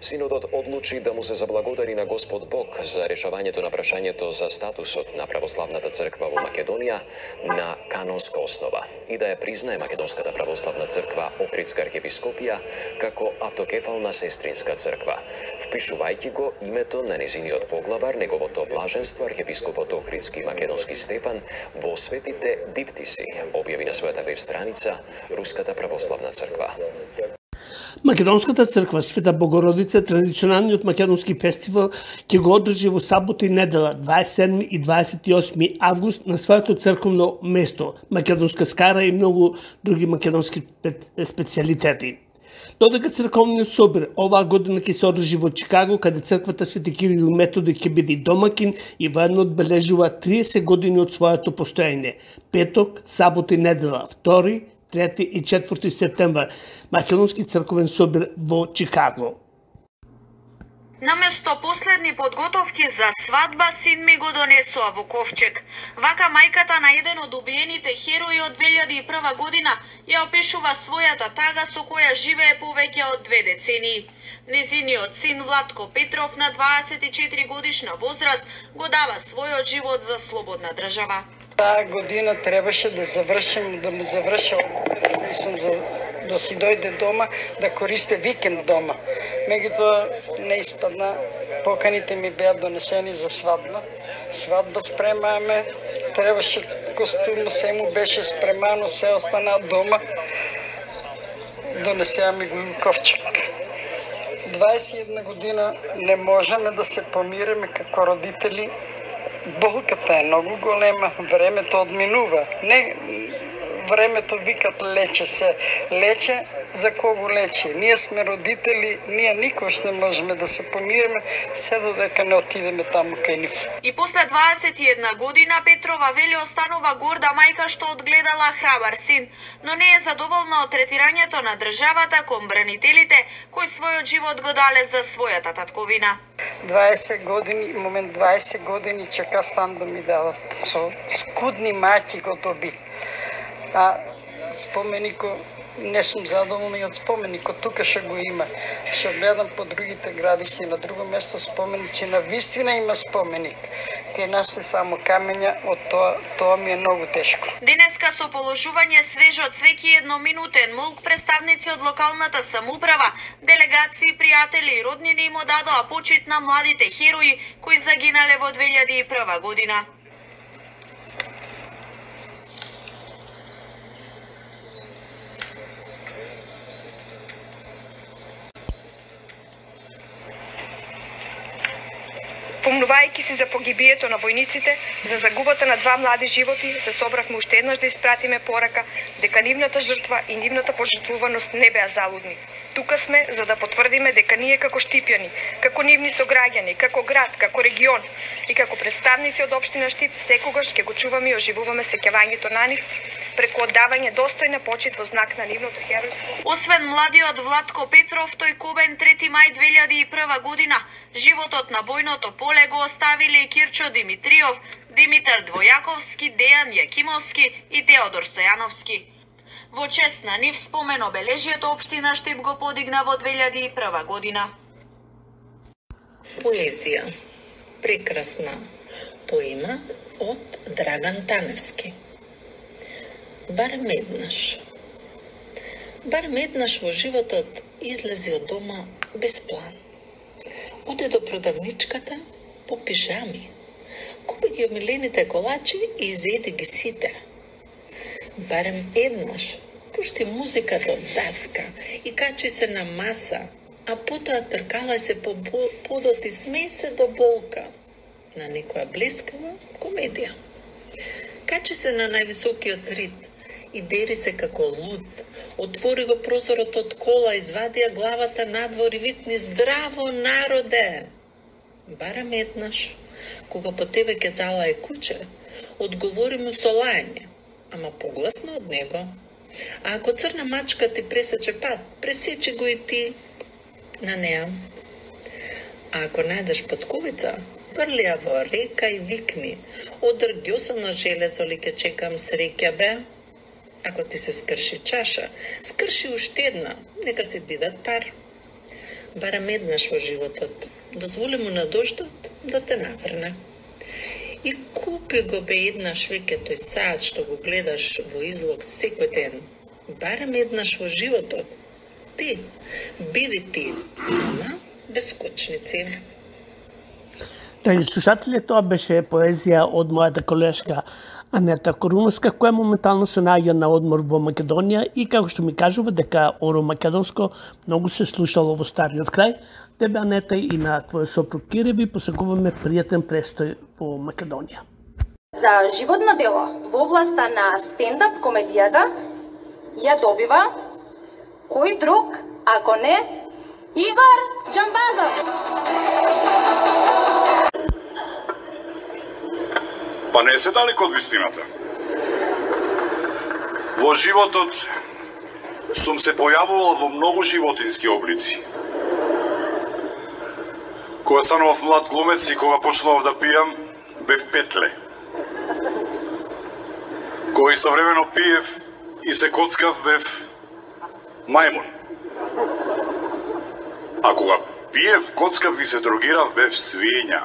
Speaker 11: Синодот одлучи да му се заблагодари на Господ Бог за решавањето на прашањето за статусот на православната црква во Македонија на канонска основа и да ја признае Македонската православна црква Охридска архиепископија како автокефална сестринска црква, впишувајќи го името на незиниот поглавар, неговото блаженство архиепископот Охридски Македонски Стефан во светите диптиси, објави на својата веб страница Руската православна црква.
Speaker 3: Македонската црква Света Богородица, традиционалниот македонски фестивал, ќе го одржи во сабота и недела 27 и 28 август на своето црковно место, Македонска скара и многу други македонски специјалитети. Додека црковниот собор оваа година ќе се одржи во Чикаго, каде црквата Свети Кирил и Методи ќе биде домакин и воедно одбележува 30 години од своето постоење. Петок, сабота и недела, 2, 3 и 4 септембар, Македонски црковен собор во Чикаго.
Speaker 12: Наместо последни подготовки за свадба, син ми го донесува во ковчег. Вака мајката на еден од убиените херои од 2001 година ја опишува својата тага со која живее повеќе од 2 децении. Незиниот син Владко Петров на 24 годишна возраст го дава својот живот за слободна држава.
Speaker 13: Таа година требаше да завршам, да му заврша да си дојде дома, да користе викенд дома. Меѓутоа не испадна, поканите ми беа донесени за свадба. Свадба спремаме, требаше костюм, се му беше спремано, се остана дома. Донесеа ми го ковчег. 21 година не можеме да се помиреме како родители. Болката е многу голема, времето одминува. Не времето викат лече се. Лече, за кого лече? Ние сме родители, ние никош не можеме да се помириме, се додека не отидеме таму кај нив.
Speaker 12: И после 21 година Петрова вели останува горда мајка што одгледала храбар син, но не е задоволна од третирањето на државата кон бранителите кои својот живот го дале за својата татковина.
Speaker 13: 20 години, момент 20 години чека стан да ми дадат. Со скудни маќи го доби. А споменико не сум задоволна и од споменикот, тука што го има. Што гледам по другите градишти, на друго место споменици, на вистина има споменик. Кај нас е само камења, од тоа ми е многу тешко.
Speaker 12: Денеска со положување свежо цвеќе и едноминутен молк представници од локалната самоуправа, делегации, пријатели и роднини им одадоа почит на младите херои кои загинале во 2001 година.
Speaker 14: Помнувајќи се за погибието на војниците, за загубата на 2 млади животи, се собравме уште еднаш да испратиме порака дека нивната жртва и нивната пожртвуваност не беа залудни. Тука сме за да потврдиме дека ние како Штипјани, како нивни сограѓани, како град, како регион и како представници од општина Штип секогаш ќе го чуваме и оживуваме сеќавањето на нив преку оддавање достојна почит во знак на нивното херојство.
Speaker 12: Освен младиот Владко Петров, тој Кобен 3 мај 2001 година, животот на бојното поле го оставиле и Кирчо Димитриов, Димитар Двојаковски, Дејан Јакимовски и Теодор Стојановски. Во чест на нив спомен обележието општина Штип го подигна во 2001 година.
Speaker 15: Поезија. Прекрасна поема од Драган Таневски. Барем еднаш во животот излези од дома без план. Оде до продавничката по пижами. Купи ги омилените колачи и изеди ги сите. Барем еднаш пушти музиката од даска и качи се на маса, а потоа тркала се по подот и смее се до болка на некоја блескава комедија. Качи се на највисокиот рид и дери се како луд. Отвори го прозорот од кола, извадија главата надвор и викни: здраво, народе! Барем еднаш, кога по тебе ке залае куче, одговори му со лајање, ама погласно од него. А ако црна мачка ти пресече пат, пресечи го и ти на неа. А ако најдеш потковица, врли ја во река и викни: одрг ѓосано железо ли ке чекам среќа бе? Ако ти се скрши чаша, скрши уште една, нека се бидат пар. Барем еднаш во животот, дозволи му на дождот да те наврне. И купи го бе еднаш веќе тој саат што го гледаш во излог секој ден. Барем еднаш во животот, ти, биди ти, ама без скочници.
Speaker 16: Драги слушатели, тоа беше поезија од мојата колешка Анета Коруновска, која моментално се наоѓа на одмор во Македонија и како што ми кажува дека оро македонско многу се слушало во стариот крај. Тебе, Анета, и на твојот сопруг Кире ви посакуваме пријатен престој во Македонија.
Speaker 17: За животно дело во областа на стендап комедијата ја добива кој друг, ако не Игор Џамбазов.
Speaker 18: Па не се далеко од вистината. Во животот сум се појавувал во многу животински облици. Кога станував млад глумец и кога почнував да пијам, бев петле. Кога истовремено пиев и се коцкав, бев мајмун. А кога пиев, коцкав и се дрогирав, бев свиња.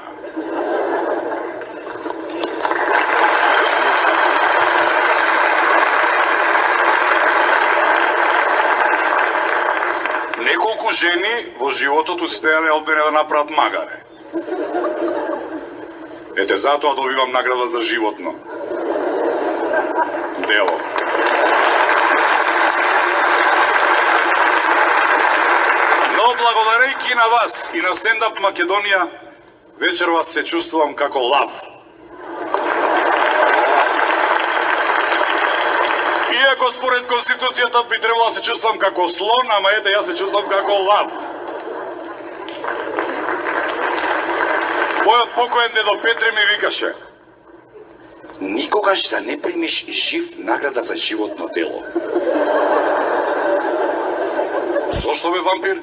Speaker 18: Неколку жени во животот успеале од мене да направат магаре. Ете, затоа добивам награда за животно дело. Но благодарејќи на вас и на Стендап Македонија, вечерва се чувствувам како лав. Иако Иако според Конституцијата би требало да се чувствам како слон, ама ете, јас се чувствам како лав. Мојот покоен дедо Петре ми викаше: никогаш да не примиш жив награда за животно дело. Зошто бе, вампир?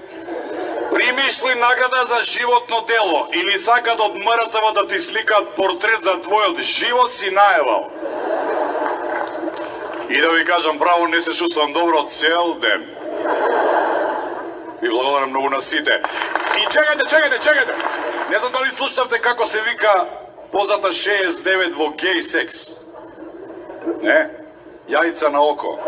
Speaker 18: Примиш ли награда за животно дело или сакат од МРТВ да ти сликаат портрет за твојот живот, си наевал? И да ви кажам право, не се чувствам добро цел ден. Ви благодарам многу на сите. И чекајте! Не знам дали слушнавте како се вика позата 69 во гей секс. Не? Јајца на око.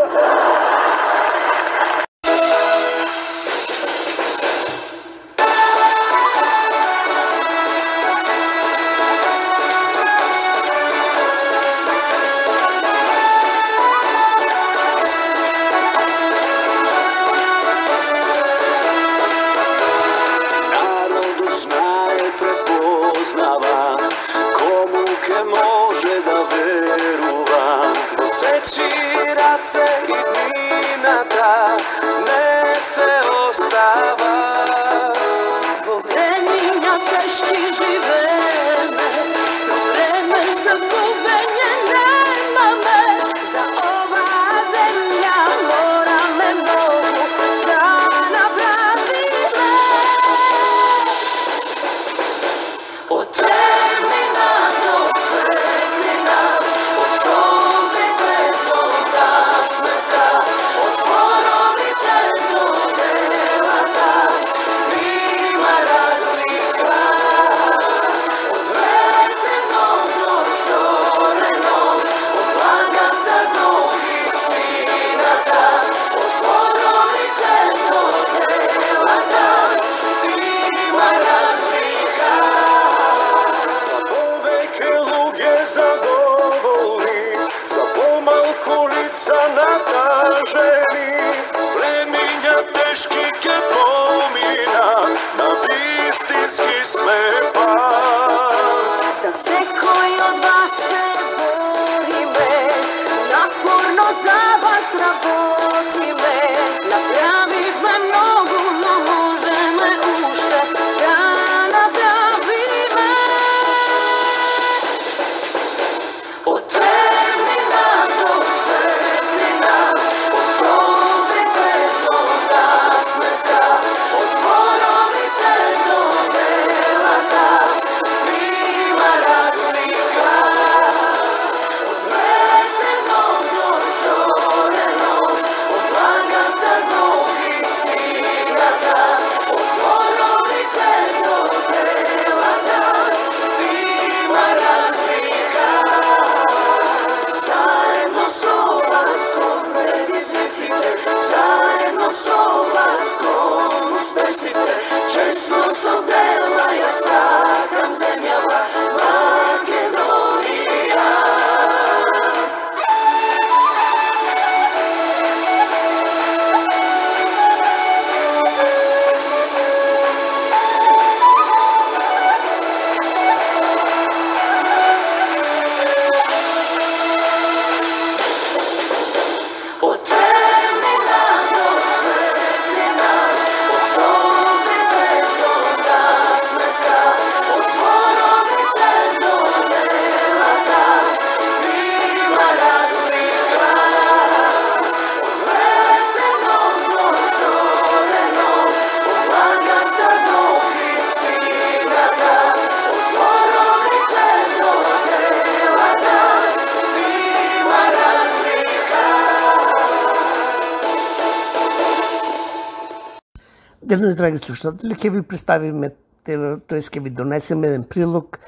Speaker 16: Денес, драги слушатели, ќе ви представиме, тоест ќе ви донесеме еден прилог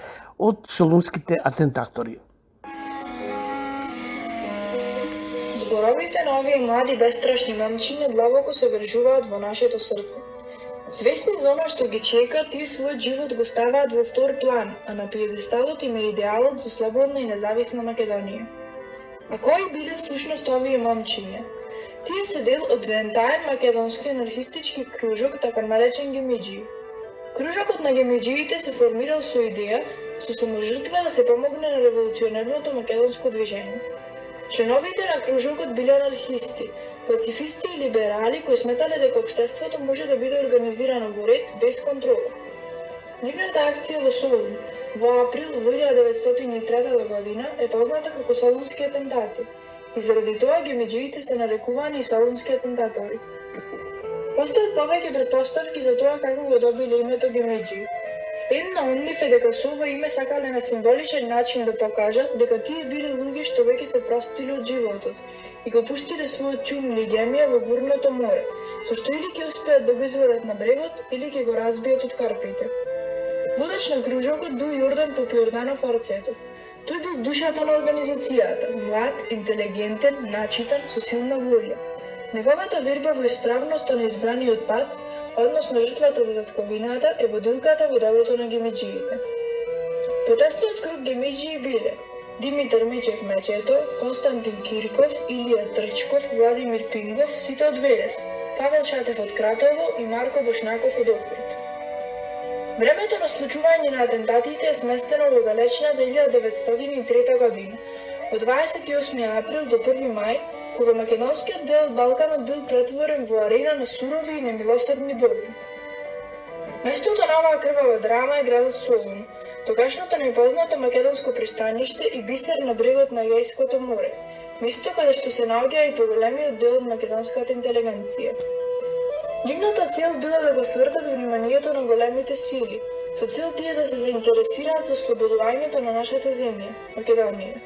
Speaker 16: од солунските атентатори.
Speaker 19: Зборовите на овие млади бестрашни момчиња длабоко се вржуваат во нашето срце. Свесни за она што ги чека, тие својот живот го ставаат во втор план, а на пиедесталот им е идеалот за слободна и независна Македонија. А кои биле всушност овие момчиња? Тие се дел од заентаен македонски анархистички кружок, така наречен Гемиџи. Кружокот на гемиџиите се формирал со идеја, со саможртва да се помогне на револуционерното македонско движење. Членовите на кружокот биле анархисти, пацифисти и либерали кои сметале дека општеството може да биде организирано во ред без контрола. Нивната акција во Солун во април 1903 година е позната како Солунски атентати и заради тоа гемиџиите се нарекувани и солунски атентатори. Постојат повеќе претпоставки за тоа како го добиле името гемиџи. Една од нив е дека со ова име сакале на символичен начин да покажат дека тие биле луѓе што веќе се простиле од животот и го пуштиле својот чум лигемија во бурното море, со што или ќе успеат да го изведат на брегот, или ќе го разбијат од карпите. Водач на кружокот бил Јордан Попјорданов Арцетов. Тој бил душата на организацијата, млад, интелигентен, начитан, со силна волја. Неговата верба во исправноста на избраниот пат, односно жртвата за татковината, е водилката во делото на гемиџиите. Потесниот круг гемиџии биле Димитар Мечев Мечето, Константин Кирков, Илија Трчков, Владимир Пингов, сите од Велес, Павел Шатев од Кратово и Марко Бошнаков од Охрид. Времето на случување на атентатите е сместено во далечна 1903 година, од 28 април до 1 мај, кога македонскиот дел од Балканот бил претворен во арена на сурови и немилосредни борби. Местото на оваа крвава драма е градот Солун, тогашното непознато македонско пристаниште и бисер на брегот на Егејското море, место каде што се наоѓа и поголемиот дел од македонската интелигенција. Нивната цел била да го свртат вниманието на големите сили, со цел тие да се заинтересираат за ослободувањето на нашата земја, Македонија.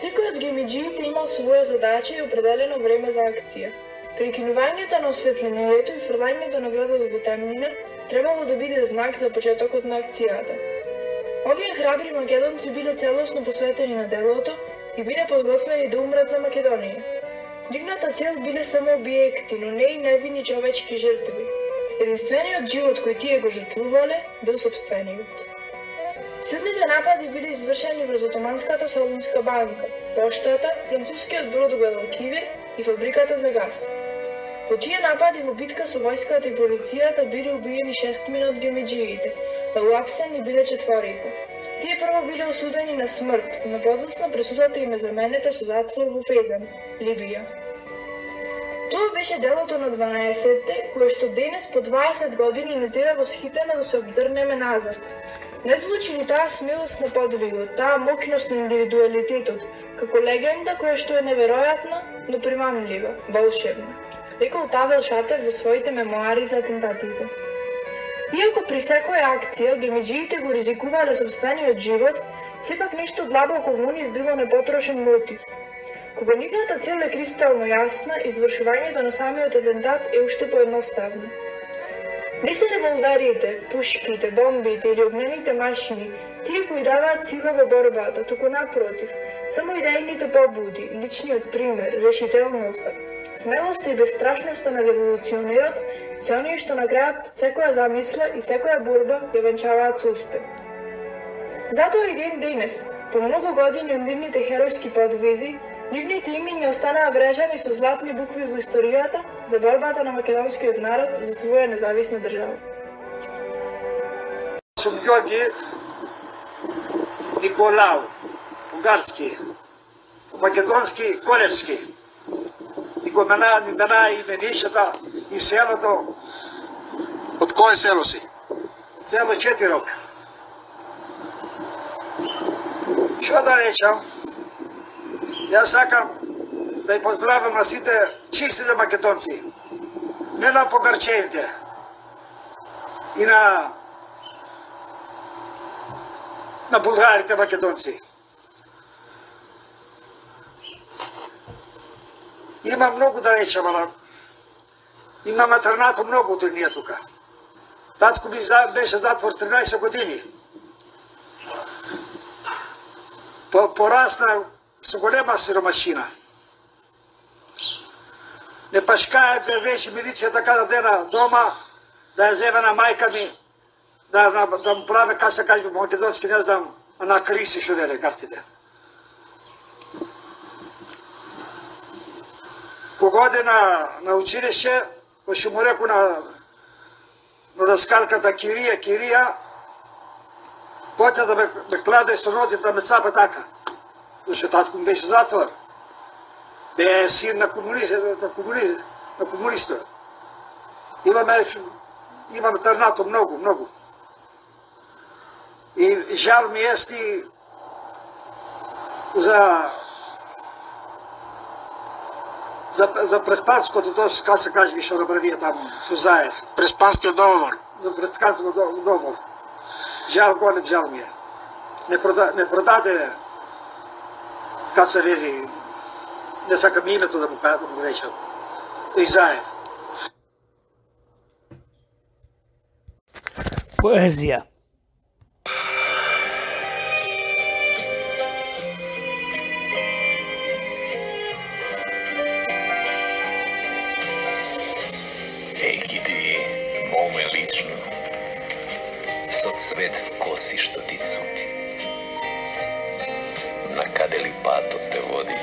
Speaker 19: Секој од гемиџиите имал своја задача и определено време за акција. Прекинувањето на осветлението и фрлањето на градот во темнина требало да биде знак за почетокот на акцијата. Овие храбри македонци биле целосно посветени на делото и биле подготвени да умрат за Македонија. Нивната цел биле само објекти, но не и невини човечки жртви. Единствениот живот кој тие го жртвувале бил сопствениот. Силните напади биле извршени врз Отоманската Солунска банка, поштата, францускиот брод Гвадалкивир и фабриката за газ. Во тие напади во битка со војската и полицијата биле убиени 6 од гемиџиите, а уапсени биле 4. Тие прво биле осудени на смрт, но подоцна пресудата им е заменета со затвор во Фезан, Либија. Тоа беше делото на 12-те, кое што денес по 20 години не тера восхитено да се обзрнеме назад. Не звучи ли таа смелост на подвигот, таа мокност на индивидуалитетот, како легенда која што е неверојатна, но примамлива, волшебна, рекол Павел Шатев во своите мемуари за атентатите. Иако при секоја акција гемиџиите го ризикувале сопствениот живот, сепак нешто длабоко во нив било непотрошен мотив. Кога нивната цел е кристално јасна, извршувањето на самиот атентат е уште поедноставно. Не се револверите, пушките, бомбите или огнените машини, тие кои даваат сила во борбата, туку напротив, само идејните побуди, личниот пример, решителноста, смелоста и бесстрашноста на револуционерот се оние што на крајот секоја замисла и секоја борба ја венчаваат со успех. Затоа и ден денес, по многу години од нивните херојски подвизи, нивните имиња останаа врежани со златни букви во историјата за борбата на македонскиот народ за своја независна држава.
Speaker 20: Сум Ѓорѓи Николау, бугарски, македонски, колевски. И го мена именишата и селото.
Speaker 18: Од кое село си?
Speaker 20: Село Четирок. Што да речам? Јас сакам да ја поздравам на сите чистите македонци, не на погарчените и на булгарите македонци. Има многу да речам, ала има матернато многу тој ние тука. Татко ми беше затвор 13 години. Порасна со голема сиромашина. Не пашкае беше милицијата када дена дома да ја земе на мајка ми, да му праве каса кај во македонски, не знам, на криси шо веле карците. Кога оде на училище, кој му реку на доскалката Кирија, појте да ме кладе со ноци да ме цапа така. Зашто татко ми беше затвор. Бе син на комуниста. Имаме трнато многу. И жал ми ести за Преспанското, тоа како се каже више добравија таму, со Заев.
Speaker 16: Преспанскиот договор.
Speaker 20: За Преспанскиот договор. Голем жал ми е. Не продаде, како се вели, не сакам името да му речам, и Заев.
Speaker 16: Поезија.
Speaker 21: Со цвет в коси што ти цути. На каде ли патот те води,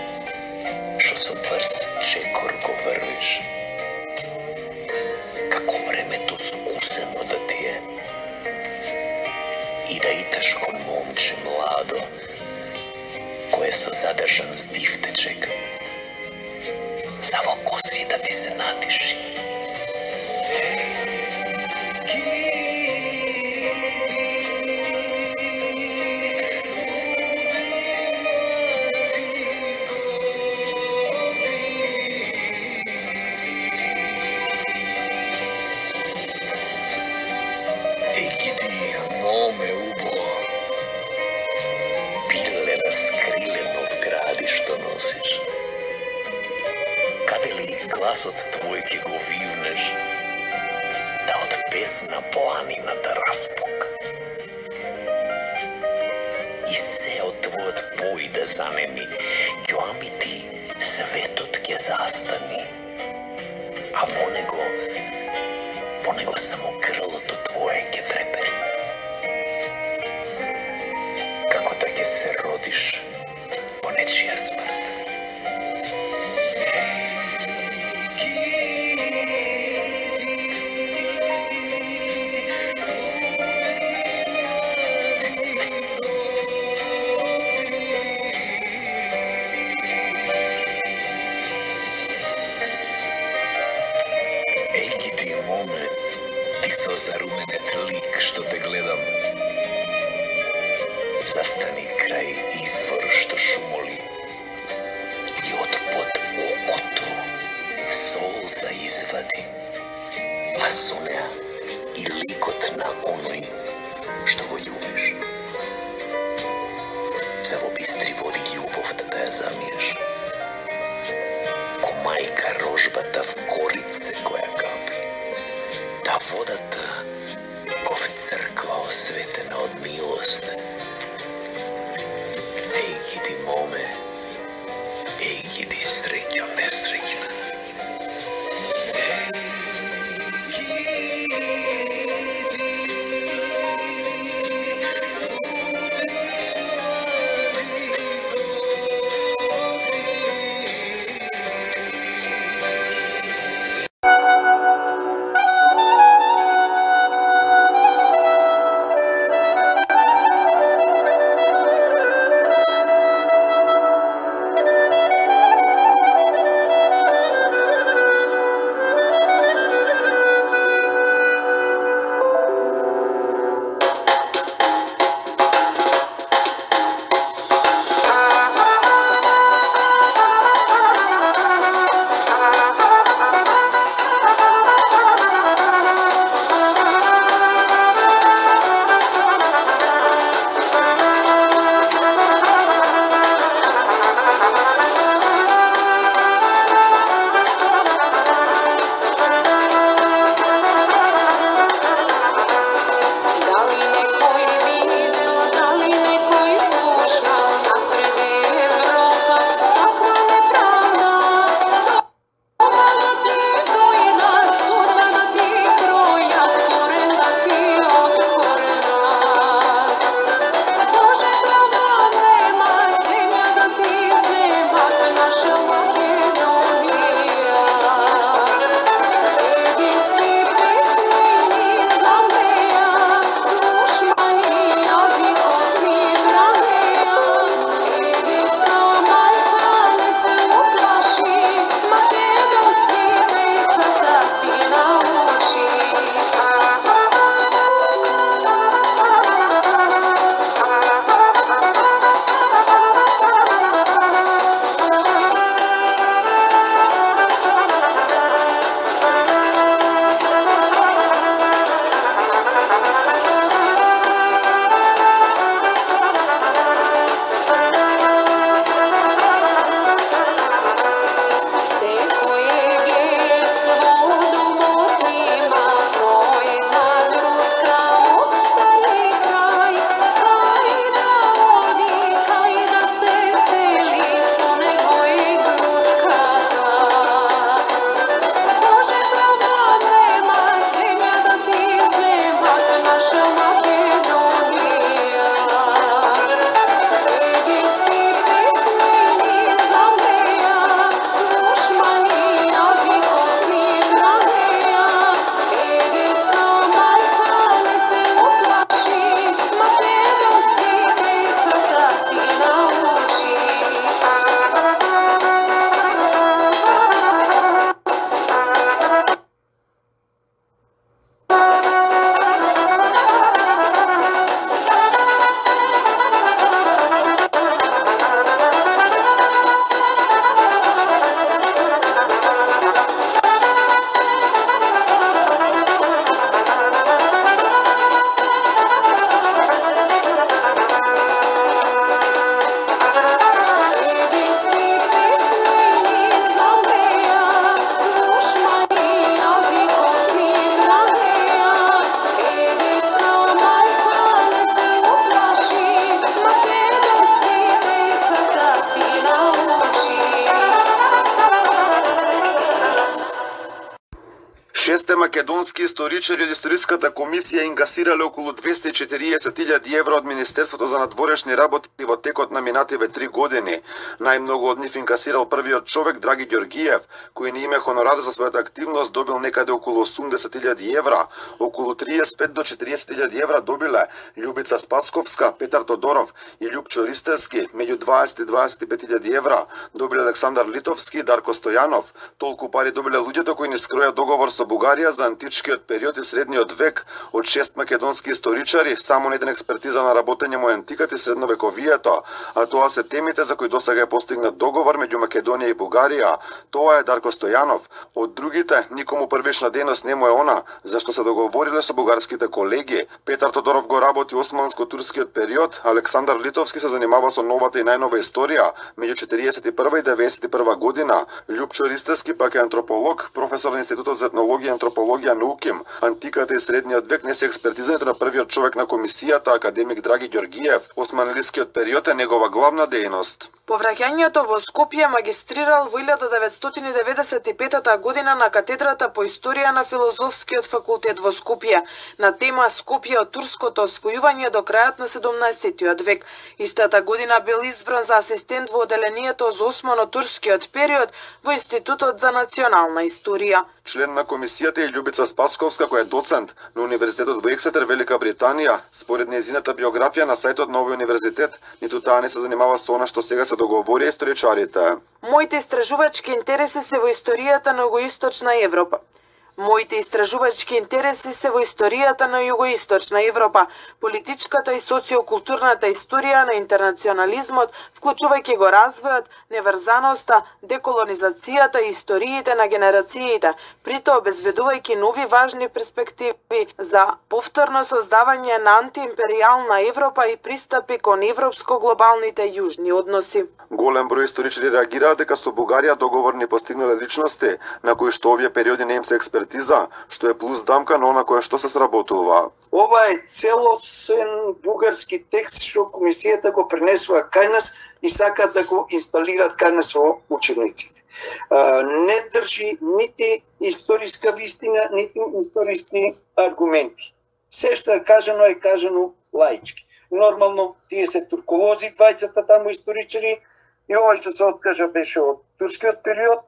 Speaker 21: што со брз чекор го врвиш. Како времето скусено да ти е. И да иташ ко момче младо, кое со задржан здив те чека. За во коси да ти се натиши. Гласот твој ке го вивнеш, да од песна планина да распука. И се од твојот пој да занеми, ѓоами ти светот ке застани. А во него само грлото твое ке трепери. Како да ке се родиш по нечија смрт. Со заруменет лик што те гледам, застани крај извор што шумоли и од под окото солза извади, а со неа и ликот на оној што го љубиш. За во бистри води љубовта да ја замиеш, ко мајка рожбата в корице која капи. Та водата ко в црква осветена од милост. Егиди моме, егиди среќо несреќна.
Speaker 2: 6 македонски историчари од историската комисија ингасирале околу 240.000 евро од Министерството за надворешни работи во текот на минативе 3 години. Најмногу од нив ингасирал првиот човек Драги Ѓоргиев, кој на име хонорар за својата активност добил некаде околу 80.000 евра. Околу 35 до 40.000 евра добиле Љубица Спасковска, Петар Тодоров и Љупчо Ристевски, меѓу 20 и 25.000 евра добиле Александар Литовски и Дарко Стојанов. Толку пари добиле луѓето кои ни скроја договор со Бугарија за античкиот период и средниот век од 6 македонски историчари, само на еден експертиза на работење му антиката и средновековието, а тоа се темите за кои досега е постигнат договор меѓу Македонија и Бугарија. Тоа е Дарко Стојанов. Од другите, никому првична дејност не му е она, зашто се договориле со бугарските колеги. Петар Тодоров го работи османско-турскиот период, Александар Литовски се занимава со новата и најнова историја меѓу 41 и 91 година. Љупчо Ристевски пак е антрополог, професор на Институтот за етнологија и антропологија на УКИМ. Антиката и средниот век не се експертизането на првиот човек на комисијата, академик Драги Ѓоргиев. Османлискиот период е негова главна дејност.
Speaker 22: По враќањето во Скопје магистрирал во 1995 година на катедрата по историја на Филозофскиот факултет во Скопје на тема Скопје од турското освојување до крајот на 17 век. Истата година бил избран за асистент во оделението за османо-турскиот период во Институтот за национална историја.
Speaker 2: Член на комисијата е Љубица Спасковска, која е доцент на Универзитетот во Ексетер, Велика Британија. Според нејзината биографија на сајтот на овој универзитет, ниту таа не се занимава со она што сега се договори историчарите.
Speaker 22: Моите истражувачки интереси се во историјата на Југоисточна Европа. Моите истражувачки интереси се во историјата на Југоисточна Европа, политичката и социокултурната историја на интернационализмот, вклучувајќи го развојот, неврзаноста, деколонизацијата и историите на генерациите, притоа обезбедувајќи нови важни перспективи за повторно создавање на антиимперијална Европа и пристапи кон европско-глобалните јужни односи.
Speaker 2: Голем број историчари реагираат дека со Бугарија договор не постигнале личности, на кои што овие периоди не им се експертиза, што е плюс дамка на она кое што се сработува.
Speaker 3: Ова е целосен бугарски текст што комисијата го пренесува кај нас и сакаат да го инсталираат кај нас во учениците. Не држи нити историска вистина, нити историски аргументи. Се што е кажано лаички. Нормално, тие се турколози, двајцата таму историчари, и ова што се откажа беше од турскиот период,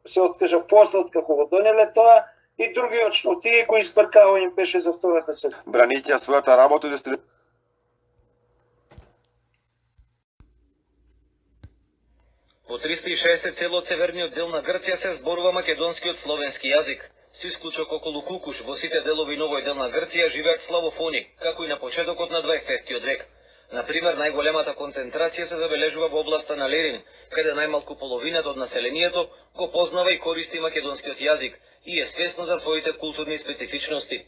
Speaker 3: се откажа после откако го донеле тоа, и другиот што тие го избркава им беше за втората светска.
Speaker 2: Бранејќи својата работа од
Speaker 23: Во 360 цело северниот дел на Грција се зборува македонскиот словенски јазик. Со исклучок околу Кукуш, во сите делови новој дел на Грција живеат славофони, како и на почетокот на 20 век. Например, најголемата концентрација се забележува во областа на Лерин, каде најмалку половината од населението го познава и користи македонскиот јазик и е свесно за своите културни специфичности.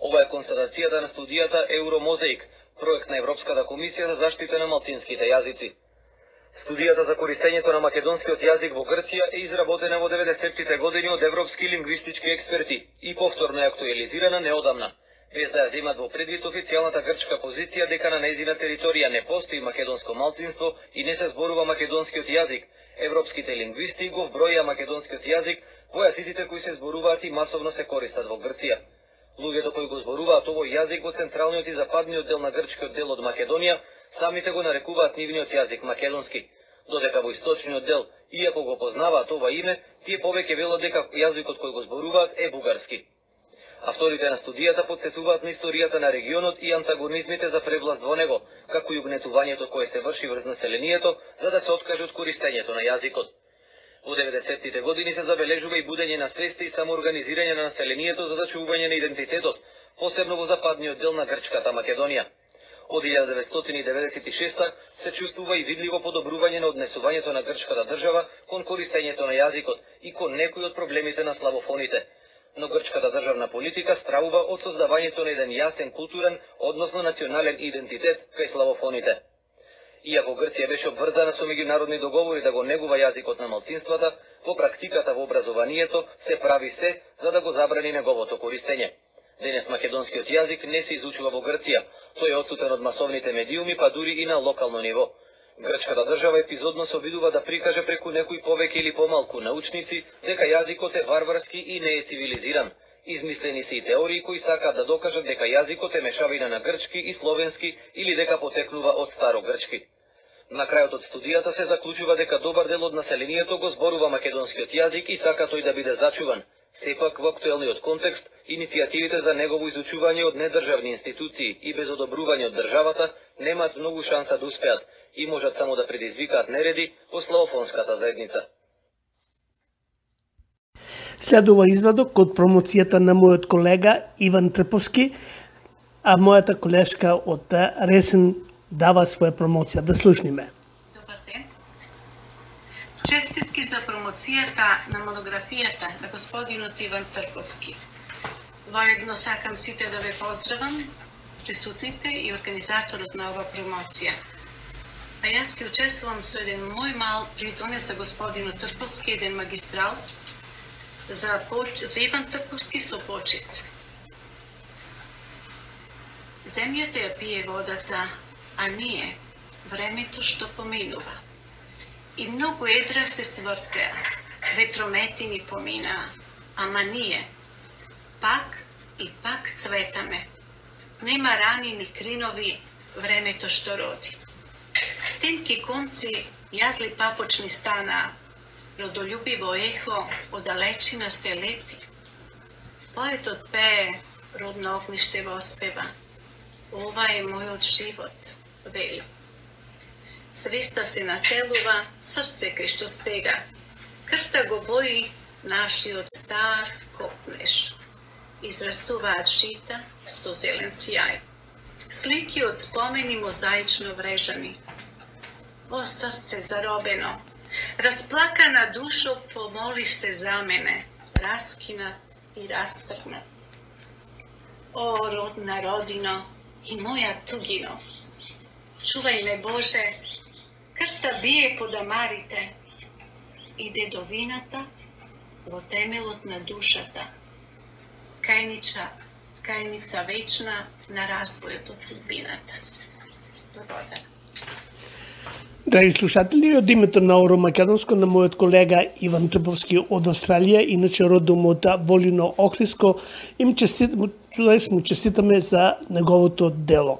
Speaker 23: Ова е констатацијата на студијата Евромозаик, проект на Европската комисија за заштита на малцинските јазици. Студијата за користењето на македонскиот јазик во Грција е изработена во 90-тите години од европски лингвистички експерти и повторно е актуализирана неодамна, без да ја земат во предвид официјалната грчка позиција дека на нејзина територија не постои македонско малцинство и не се зборува македонскиот јазик. Европските лингвисти го вброја македонскиот јазик во јазиците кои се зборуваат и масовно се користат во Грција. Луѓето кои го зборуваат овој јазик во централниот и западниот дел на грчкиот дел од Македонија самите го нарекуваат нивниот јазик македонски, додека во источниот дел, иако го познаваат ова име, тие повеќе велат дека јазикот кој го зборуваат е бугарски. Авторите на студијата потсетуваат на историјата на регионот и антагонизмите за превласт во него, како и угнетувањето кое се врши врз населението за да се откаже од користењето на јазикот. Во 90-тите години се забележува и будење на свеста и самоорганизирање на населението за зачувување на идентитетот, посебно во западниот дел на грчката Македонија. Од 1996 се чувствува и видливо подобрување на однесувањето на грчката држава кон користењето на јазикот и кон некои од проблемите на славофоните. Но грчката државна политика стравува од создавањето на еден јасен културен, односно национален идентитет кај славофоните. Иако Грција беше обврзана со меѓународни договори да го негува јазикот на малцинствата, во практиката во образованието се прави се за да го забрани неговото користење. Денес македонскиот јазик не се изучува во Грција, тој е отсутен од масовните медиуми, па дури и на локално ниво. Грчката држава епизодно се обидува да прикаже преку некои повеќе или помалку научници дека јазикот е варварски и не е цивилизиран, Измислени се и теории кои сакаат да докажат дека јазикот е мешавина на грчки и словенски или дека потекнува од старогрчки. На крајот од студијата се заклучува дека добар дел од населението го зборува македонскиот јазик и сака тој да биде зачуван. Сепак, во актуелниот контекст, иницијативите за негово изучување од недржавни институции и без одобрување од државата немаат многу шанса да успеат и можат само да предизвикаат нереди во славофонската заедница.
Speaker 16: Следува извадок од промоцијата на мојот колега Иван Трповски, а мојата колешка од Ресен дава своја промоција. Да слушниме.
Speaker 4: Добар ден. Честитки за промоцијата на монографијата на господинот Иван Трповски. Воедно сакам сите да ве поздравам, присутните и организаторот на ова промоција. А јас ќе учествувам со еден мој мал придонес за господинот Трповски, еден магистрал, за Иван Трповски со почит. Земјата ја пие водата, а ние времето што поминува. И многу едра се свртеа, ветромети ни поминаа, ама ние пак и пак цветаме. Нема рани ни кринови, времето што роди. Тенки конци јазли папочни станаа, родолюбиво ехо од далечина се лепи. Поетот пее, родно огниште воспева. Ова е мојот живот, вели. Свеста се населува, срце кај што стега. Крвта го бои нашиот стар копнеш. Израстуваат жита со зелен сјај. Слики од спомени мозаично врежани. О, срце заробено, расплакана душо, помолиш се за мене, раскинат и растргнат. О, родна родино и моја тугино, чувај ме Боже, крвта бие по дамарите и дедовината во темелот на душата. Кајница вечна на разбојот од судбината. Благодарам.
Speaker 16: Драги слушатели, од името на Оро Македонско на мојот колега Иван Трповски од Австралија, иначе родом од Волино Охридско, му честитаме за неговото дело.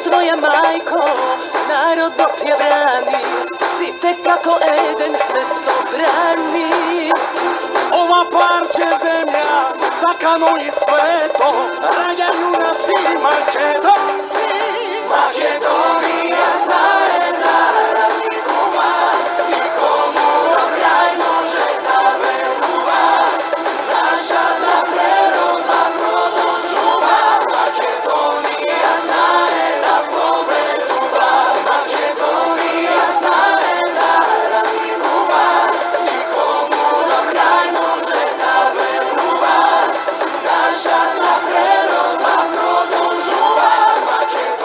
Speaker 10: Твоја мајко, народот ја брани, сите како еден сме собрани.
Speaker 5: Ова парче земја, сакано и свето, раѓа јунаци македонци. Македонија знае да разликува, никому до крај може да верува. Нашата природа продолжува, Македонија знае да победува. Македонија знае да разликува, никому до крај може да верува. Нашата природа продолжува, Македонија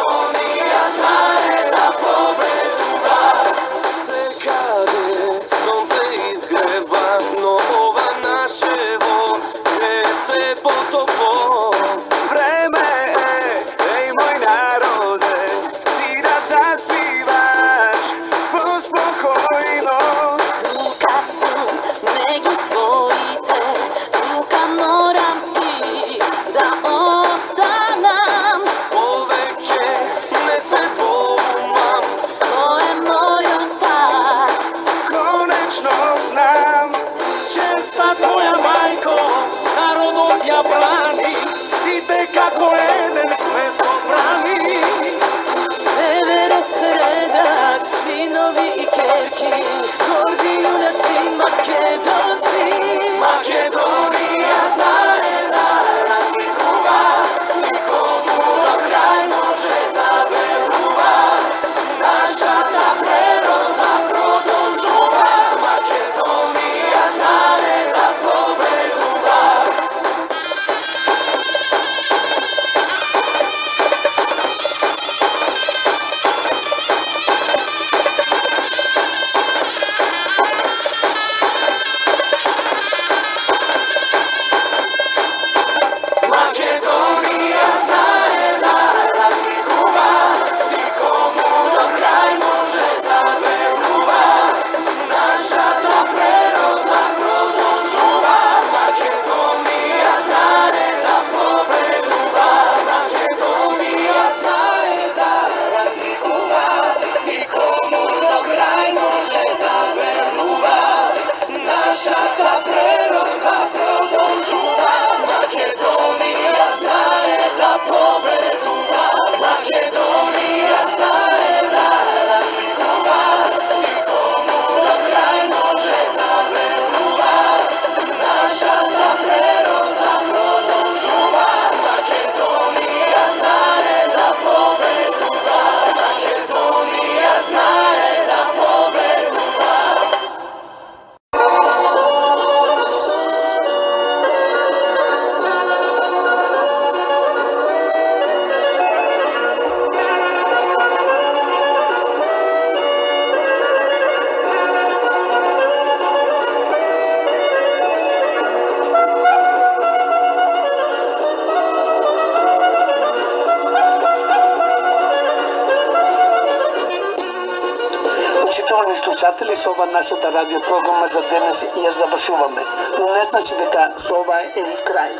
Speaker 3: Почитувани слушатели, со ова нашата радио програма за денес ја завршуваме. Но не значи дека со ова е и крај.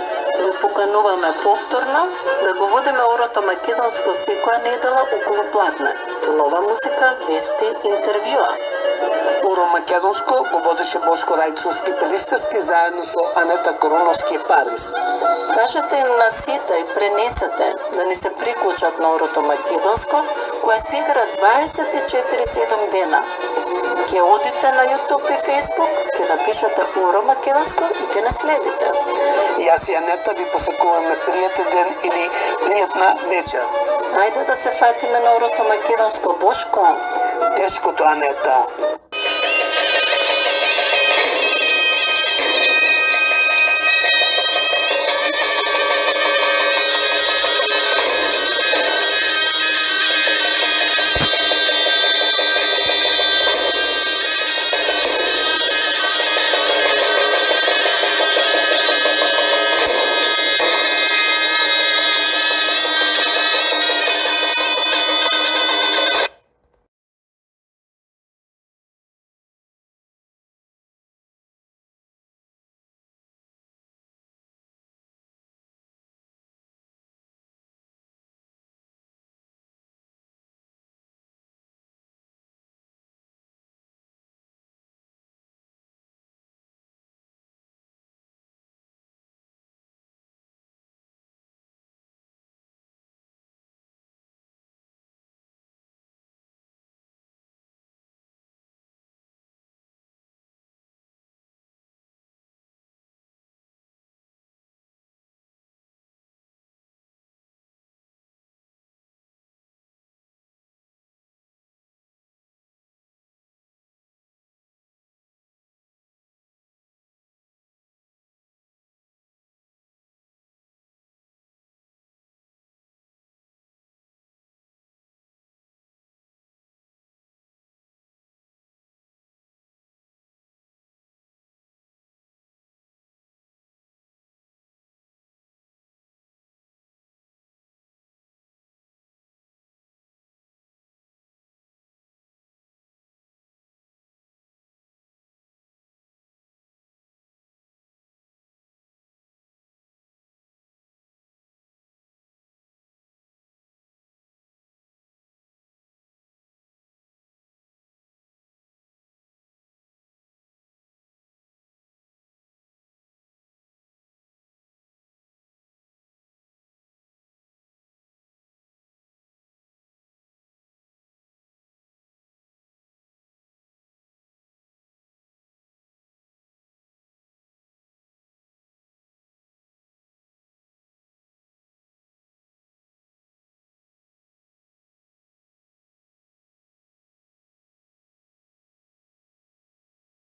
Speaker 15: Ви покануваме повторно да го водиме Орото Македонско секоја недела околу пладне, со нова музика, вести, интервјуа.
Speaker 3: Оро Македонско го водеше Бошко Рајчовски Пелистерски заедно со Анета Коруновски Парис.
Speaker 15: Кажете им на сите и пренесете да ни се приклучат на Орото Македонско, кое се игра 24/7 дена. Ке одите на YouTube и Facebook, ке напишете Оро Македонско и ке наследите.
Speaker 3: Јас и Анета ви посакуваме пријатен ден или пријатна вечер.
Speaker 15: Ајде да се фатиме на Орото Македонско, Бошко.
Speaker 3: Тешкото, Анета.